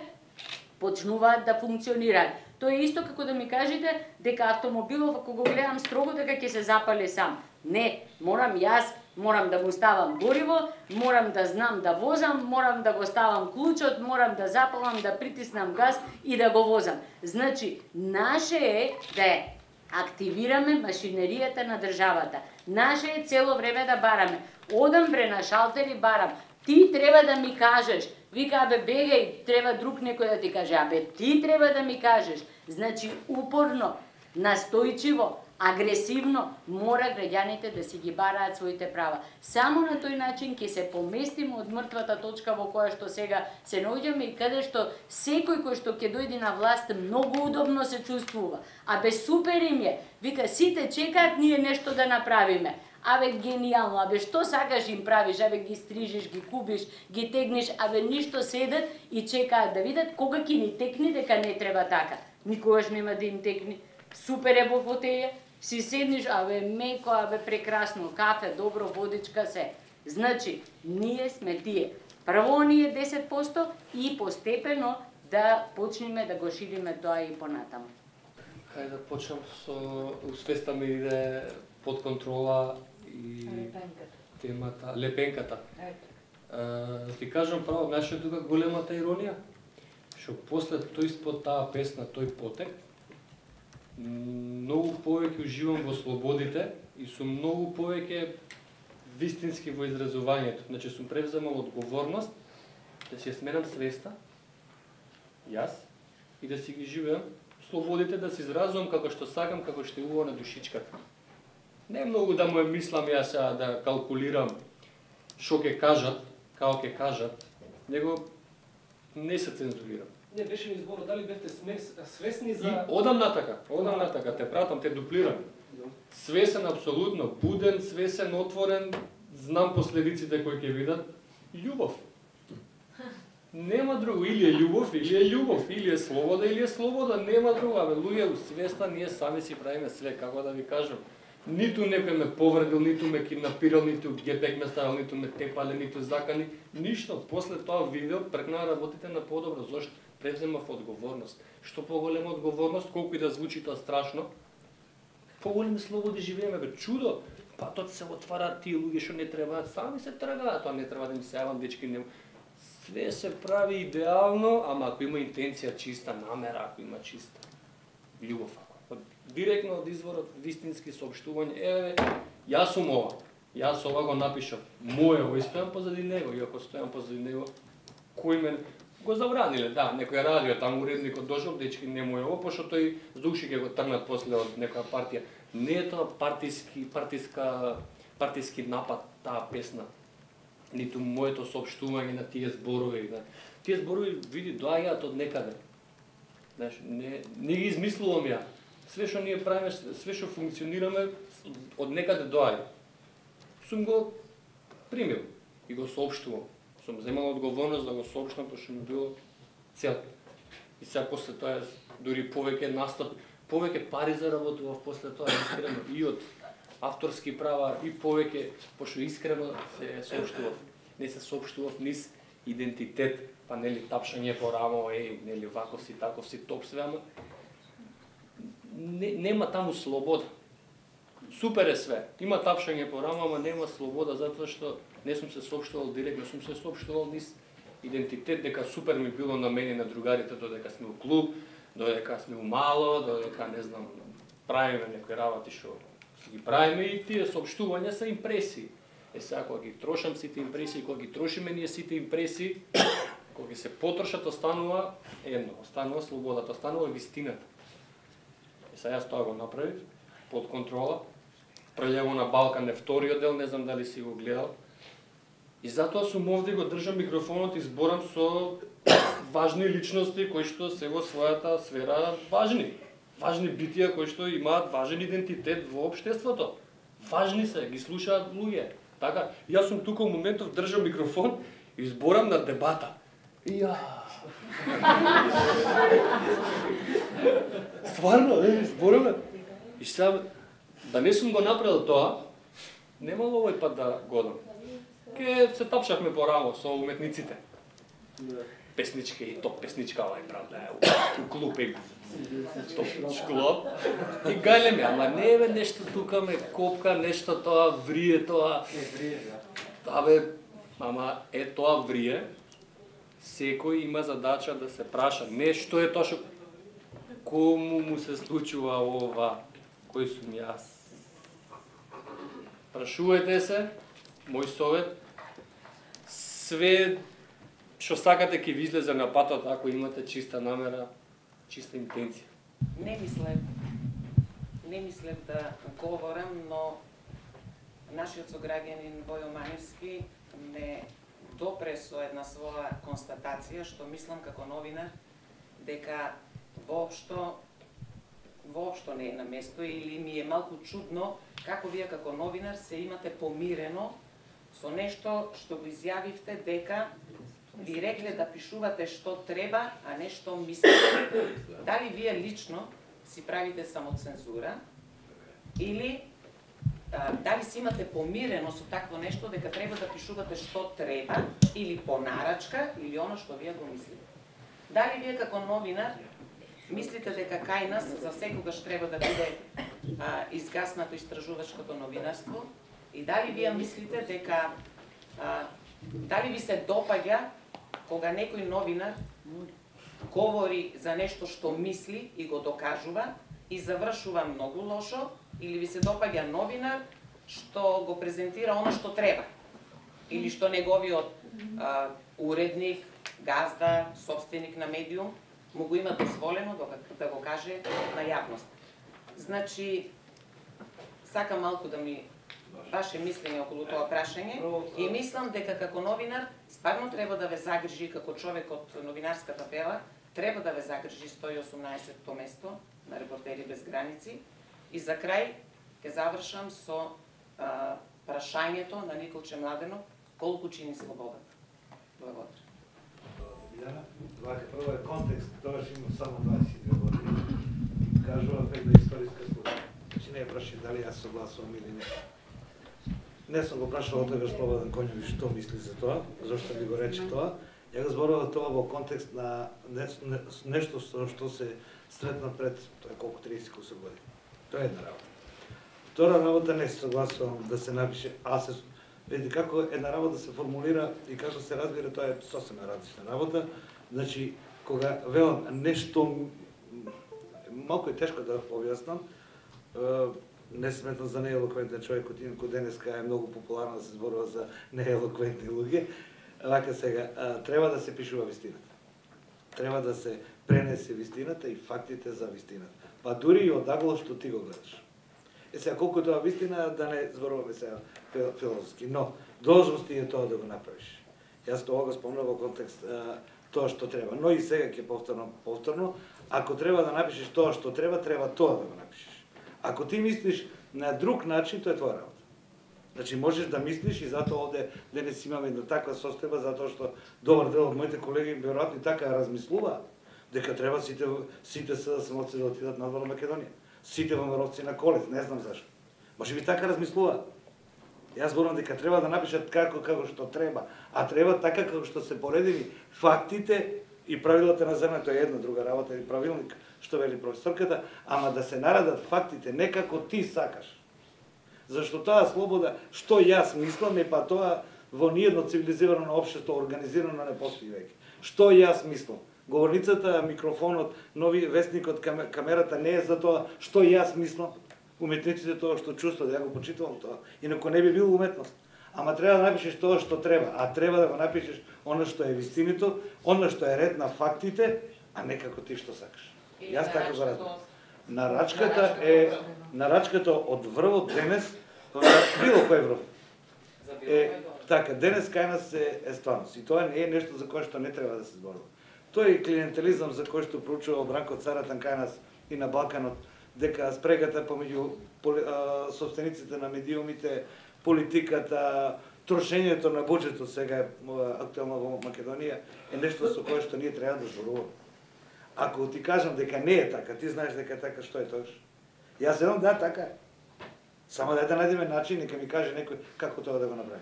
почнуваат да функционираат. Тоа е исто како да ми кажете дека автомобилов, ако го гледам строго, дека ќе се запали сам. Не, морам да му ставам гориво, морам да знам да возам, морам да го ставам клучот, морам да запалам, да притиснам газ и да го возам. Значи, наше е да активираме машинеријата на државата. Наше е цело време да бараме. Одам бре на шалтер и барам. Ти треба да ми кажеш. Вика, абе, бегај, треба друг некој да ти каже. Абе, ти треба да ми кажеш. Значи, упорно, настојчиво, агресивно мора граѓаните да си ги бараат своите права. Само на тој начин ќе се поместиме од мртвата точка во која што сега се наоѓаме и каде што секој кој што ќе дојде на власт многу удобно се чувствува. Абе супер им е. Вика, сите чекаат ние нешто да направиме. Абе гениално, абе што сакаш им правиш, абе ги стрижиш, ги кубиш, ги тегниш, абе ништо седат и чекаат да видат кога ќе ни текни дека не треба така. Никогаш нема да им текни. Супер е во фотеја. Си седниш, абе меко, абе прекрасно, кафе, добро, водичка, се. Значи, ние сме тие. Прво оние 10% и постепено да почнеме да го шириме тоа и понатаму. Хајде да почнам со усвеста ми иде под контрола и темата, лепенката. Ти кажам право, знаеш тука големата иронија? Што после тој спот таа песна, тој потек, многу повеќе уживам во слободите и сум многу повеќе вистински во изразувањето. Значи сум превземал одговорност да си ја сменам свеста, јас, и да си ги живеам слободите, да се изразувам како што сакам, како што е убаво на душичката. Не многу да му е мислам јас да калкулирам што ќе кажат, како ќе кажат, него не се цензурирам. Не беше ми зборот, дали бевте свесни за... Одам натака, те пратам, те дуплирам. Свесен, апсолутно, буден, свесен, отворен, знам последиците кои ќе видат. Љубов. Нема друго, или е љубов, или е слобода, или е слобода, нема друго. Абе, луѓе, свеста, ние сами си правиме све, како да ви кажам. Ниту некој ме повредил, ниту ме киднапирал, ниту гепек ме ставил, ниту ме тепале, ниту закани, ништо. После тоа видео прекна работите на подобро, зашто превземав одговорност. Што поголема одговорност, колку и да звучи тоа страшно, поголеми слободи живееме, бе, чудо. Патот се отвара, тие луѓе што не требаат, сами се тргаат, тоа не треба да им се јавам, дечки, не... Све се прави идеално, ама ако има интенција чиста, намера, ако има чиста љубов, директно од изворот, вистински соопштување, јас сум ова, јас ова го напишав, моје, ово стојам позади него, и ако стојам позади него, кој мен го забраниле, да, некој радио, таму уредникот дошол, дечки, не моје ово, пошто тој с души ќе го тргнат после од некоја партија. Не е тоа партиски напад, таа песна, ниту моето соопштување на тие зборови. Тие зборови, види, доаѓаат од некаде. Знаеш, не ги измислувам ја. Све што ние правиме, све што функционираме, од некаде доаѓа. Сум го примил и го соопштувам. Сум земал одговорност да го соопштам, пошто ми било цел. И сега после тоа, дури повеќе настап, повеќе пари заработував после тоа, искрено, и од авторски права, и повеќе, пошто искрено се соопштував. Не се соопштував низ идентитет, па нели тапшање по рамо, нели ваков си, таков си, топ све, ама нема таму слобода. Супер е све. Има тапшање по рамо, ама нема слобода, затоа што не сум се соопштувал директно, сум се соопштувал низ идентитет, дека супер ми било на мене и на другарите, додека сме у клуб, додека сме у мало, додека, не знам, правиме некои работи што ги правиме, и тие соопштувања се импресии. Сега, кога ги трошам сите импресии, кога ги трошиме ние сите импресии, Кога се потрошат, останува едно, останува слободата, останува вистината. И сега јас тоа го направив, под контрола, Прелево на Балкан е вториот дел, не знам дали си го гледал. И затоа сум овде го држам микрофонот и зборам со важни личности кои што се во својата сфера важни. Важни битија кои што имаат важен идентитет во општеството. Важни се, ги слушаат луѓе. Така, јас сум тука во моментов, држам микрофон и зборам на дебата. Ја. Стварно, збораме. И сега, да не сум го направил тоа, немало овој пат да годам. Ке се тапшахме по рамо со уметниците. Песнички и топ песничка овај правда, у клуб е топ шклоп. И гајлеме, ама не бе нешто тука ме копка, нешто тоа врие, тоа... Абе, ама е тоа врие, секој има задача да се праша. Не што е тоа што кому му се случува ова, кој сум јас. Прашувајте се, мој совет, све што сакате ќе ви излезе на патот ако имате чиста намера, чиста интенција. Не мислев да говорам, но нашиот сограѓанин Војо Маневски ме допре со една своја констатација, што мислам како новинар, дека воопшто не е на место или ми е малку чудно како вие како новинар се имате помирено со нешто што го изјавивте дека ви рекле да пишувате што треба, а не што мислите. Дали вие лично си правите самоцензура или дали си имате помирено со такво нешто дека треба да пишувате што треба или по нарачка или оно што вие го мислите. Дали вие како новинар мислите дека кај нас за секогаш треба да биде изгаснато истражувачкото новинарство и дали вие мислите дека дали ви се допаѓа кога некој новинар говори за нешто што мисли и го докажува и завршува многу лошо, или ви се допаѓа новинар што го презентира оно што треба или што неговиот уредник, газда, собственик на медиум му го има дозволено да го каже на јавност. Значи, сакам малку да ми ваше мислење околу тоа прашање и мислам дека како новинар стварно треба да ве загрижи како човек од новинарската фела, треба да ве загрижи 118-то место на Репортери без граници. И за крај ќе завршам со прашањето на Николче Младенов, колку чини слободата. Благодарам. Прво е контекст, тогаш имам само 22 години. Кажувам една историска случка. Значи не ја праши дали јас согласувам или не. Не сум го прашал од тогаш Слободан Коњовиќ што мисли за тоа, зашто ми го рече тоа. Ја го зборував тоа во контекст на нешто што се сретна пред колку 30 години. Тоа е една работа. Втора работа не се согласувам да се напише, видите како една работа се формулира и како се разбира, тоа е сосема различна работа. Значи, кога велам нешто, малку е тешко да објаснам, не сметам за неелоквентен човек, инаку денеска е многу популарно да се зборува за неелоквентни луѓе. Вака сега, треба да се пишува вистината. Треба да се пренесе вистината и фактите за вистината. Па дури и од агло што ти го гледаш. Сега, колку тоа вистина, да не зборуваме сега филозофски, но должност е тоа да го направиш. Јас тоа го спомнав во контекст тоа што треба, но и сега ќе повторно, ако треба да напишеш тоа што треба, треба тоа да го напишеш. Ако ти мислиш на друг начин, тоа е твоја работа. Значи, можеш да мислиш и затоа овде денес имаме една таква состојба, затоа што добар дел од моите колеги веројатно и така размислуваат дека треба сите самоци да отидат надвор Македонија. Сите ВМРО-вци на Колец, не знам зашто. Може би така размислуваат. Јас зборувам дека треба да напишат како што треба, а треба така како што се поредени фактите и правилата на земја, тоа е една друга работа или правилник, што вели професорката, ама да се наредат фактите не како ти сакаш. Зашто таа слобода, што јас мислам, е па тоа во ниедно цивилизирано општество организирано не постои веќе. Што јас мислам? Говорницата, микрофонот, нови вестникот, камерата не е за тоа што јас мислам. Уметниците тоа што чувствуват, ја го почитувам тоа. Инаку не би било уметност. Ама треба да напишеш тоа што треба, а треба да го напишеш она што е вистинито, она што е ред на фактите, а не како ти што сакаш. Јас така го разбирам. Нарачката од врвот денес, било кој врв. Така, денес кај нас е стварност. И тоа не е нешто за кое што не треба да се зборува. Тоа е клиентелизам за кој што проучувал Бранко Царатан кај нас и на Балканот, дека спрегата помеѓу собствениците на медиумите, политиката, трошењето на буџетот сега е актуелно во Македонија е нешто со кое што ние треба да зборуваме. Ако ти кажам дека не е така, ти знаеш дека е така, што е тоа? Јас едно да така е. Само да најдеме начин, нека ми каже некој како тоа да го направи.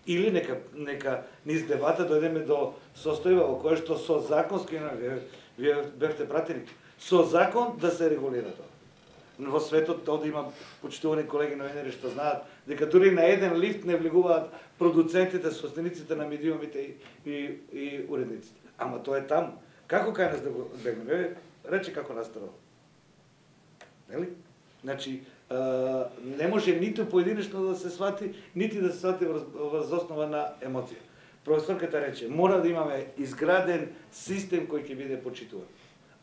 Или нека низ дебата дојдеме до состојба во која што со законски, вие бевте пратени, со закон да се регулира тоа. Во светот тоа да има почитувани колеги новинери што знаат дека дури на еден лифт не влегуваат продуцентите, собствениците на медиумите и уредниците. Ама тоа е таму. Како кај нас да го бегнеме? Рече како настава. Нели? Значи, не може ниту поединечно да се свати, нити да се свати врз основа на емоција. Професорката рече, мора да имаме изграден систем кој ќе биде почитуван.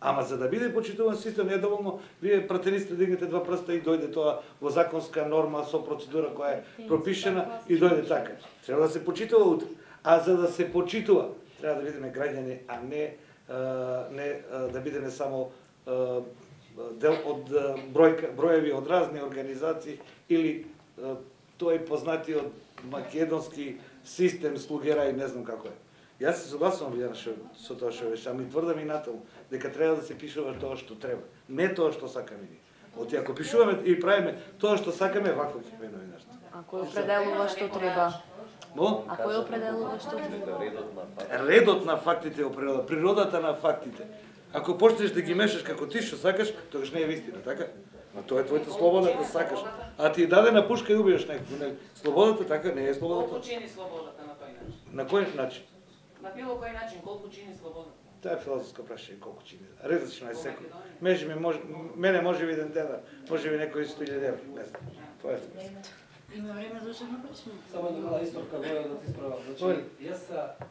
Ама за да биде почитуван систем не е доволно вие пратениците дигнете два прста и дојде тоа во законска норма со процедура која е пропишена и дојде така. Треба да се почитува утре. А за да се почитува, треба да бидеме граѓани, а не да бидеме само дел од броеви од разни организации или тој познатиот македонски систем слугера и не знам како е. Јас се согласувам со тоа што беше, ами тврдам и натаму дека треба да се пишува тоа што треба, не тоа што сакаме ние. Оти ако пишуваме и правиме тоа што сакаме, вако ќе биде новинарство. А кој определува што треба? А кој определува што треба? Редот на фактите определува, природата на фактите. Ако почнеш да ги мешаш како ти што сакаш, тогаш не е вистина, така? Но тоа е твојата слобода да сакаш. А ти даде на пушка и убиеш некој. Слободата така не е слободата. Колку чини слободата на тој начин? На кој начин? На било кој начин, колку чини слободата? Тоа е филозофско прашање, колку чини. Различно е секој. Мене може би еден ден, може би некој 100.000 евра, не знам. Тоа е смешно. Има време за ушедно прашање. Само една мала исторка воја да ти справам. Значи, јас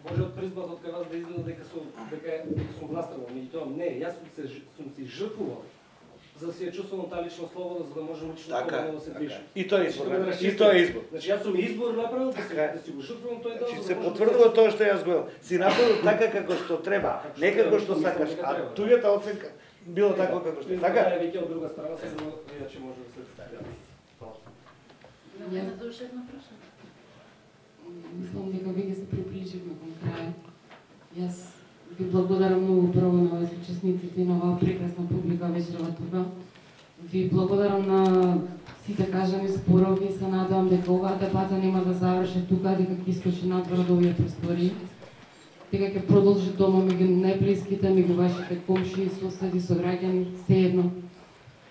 може од призбат од кај вас да изгледа дека сум властанал, меѓутоа не, јас сум се жртвувал за да се чувствувам таа лична слобода, за да можам лично слободно да се движам. И тоа е избор. И тоа е избор. Значи јас сум избор направил да си го жртвувам тој дел. Се потврдува тоа што јас го си направил така како што треба, не како што сакаш, а туѓата оценка било така како што така. Тоа е веќе од друга страна, се иначе може да се стави. Време за ушедно прашање. Мислам дека веќе се приближивме кон крај. Јас ви благодарам многу прво на овие учесниците и на оваа прекрасна публика вечерва тука. Ви благодарам на сите кажани зборови и се надевам дека оваа дебата нема да заврши тука, дека ќе искочи надвор од овие простори, дека ќе продолжи дома меѓу најблиските, меѓу вашите комши, соседи, сограѓани, сеедно.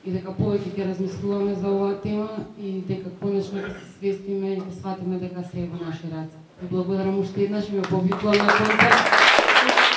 И дека повеќе ќе размислуваме за оваа тема и дека конечно ќе се свестиме и ќе сватиме дека се е во наши раце. Ви благодарам уште еднаш и ме повикувам на концерт.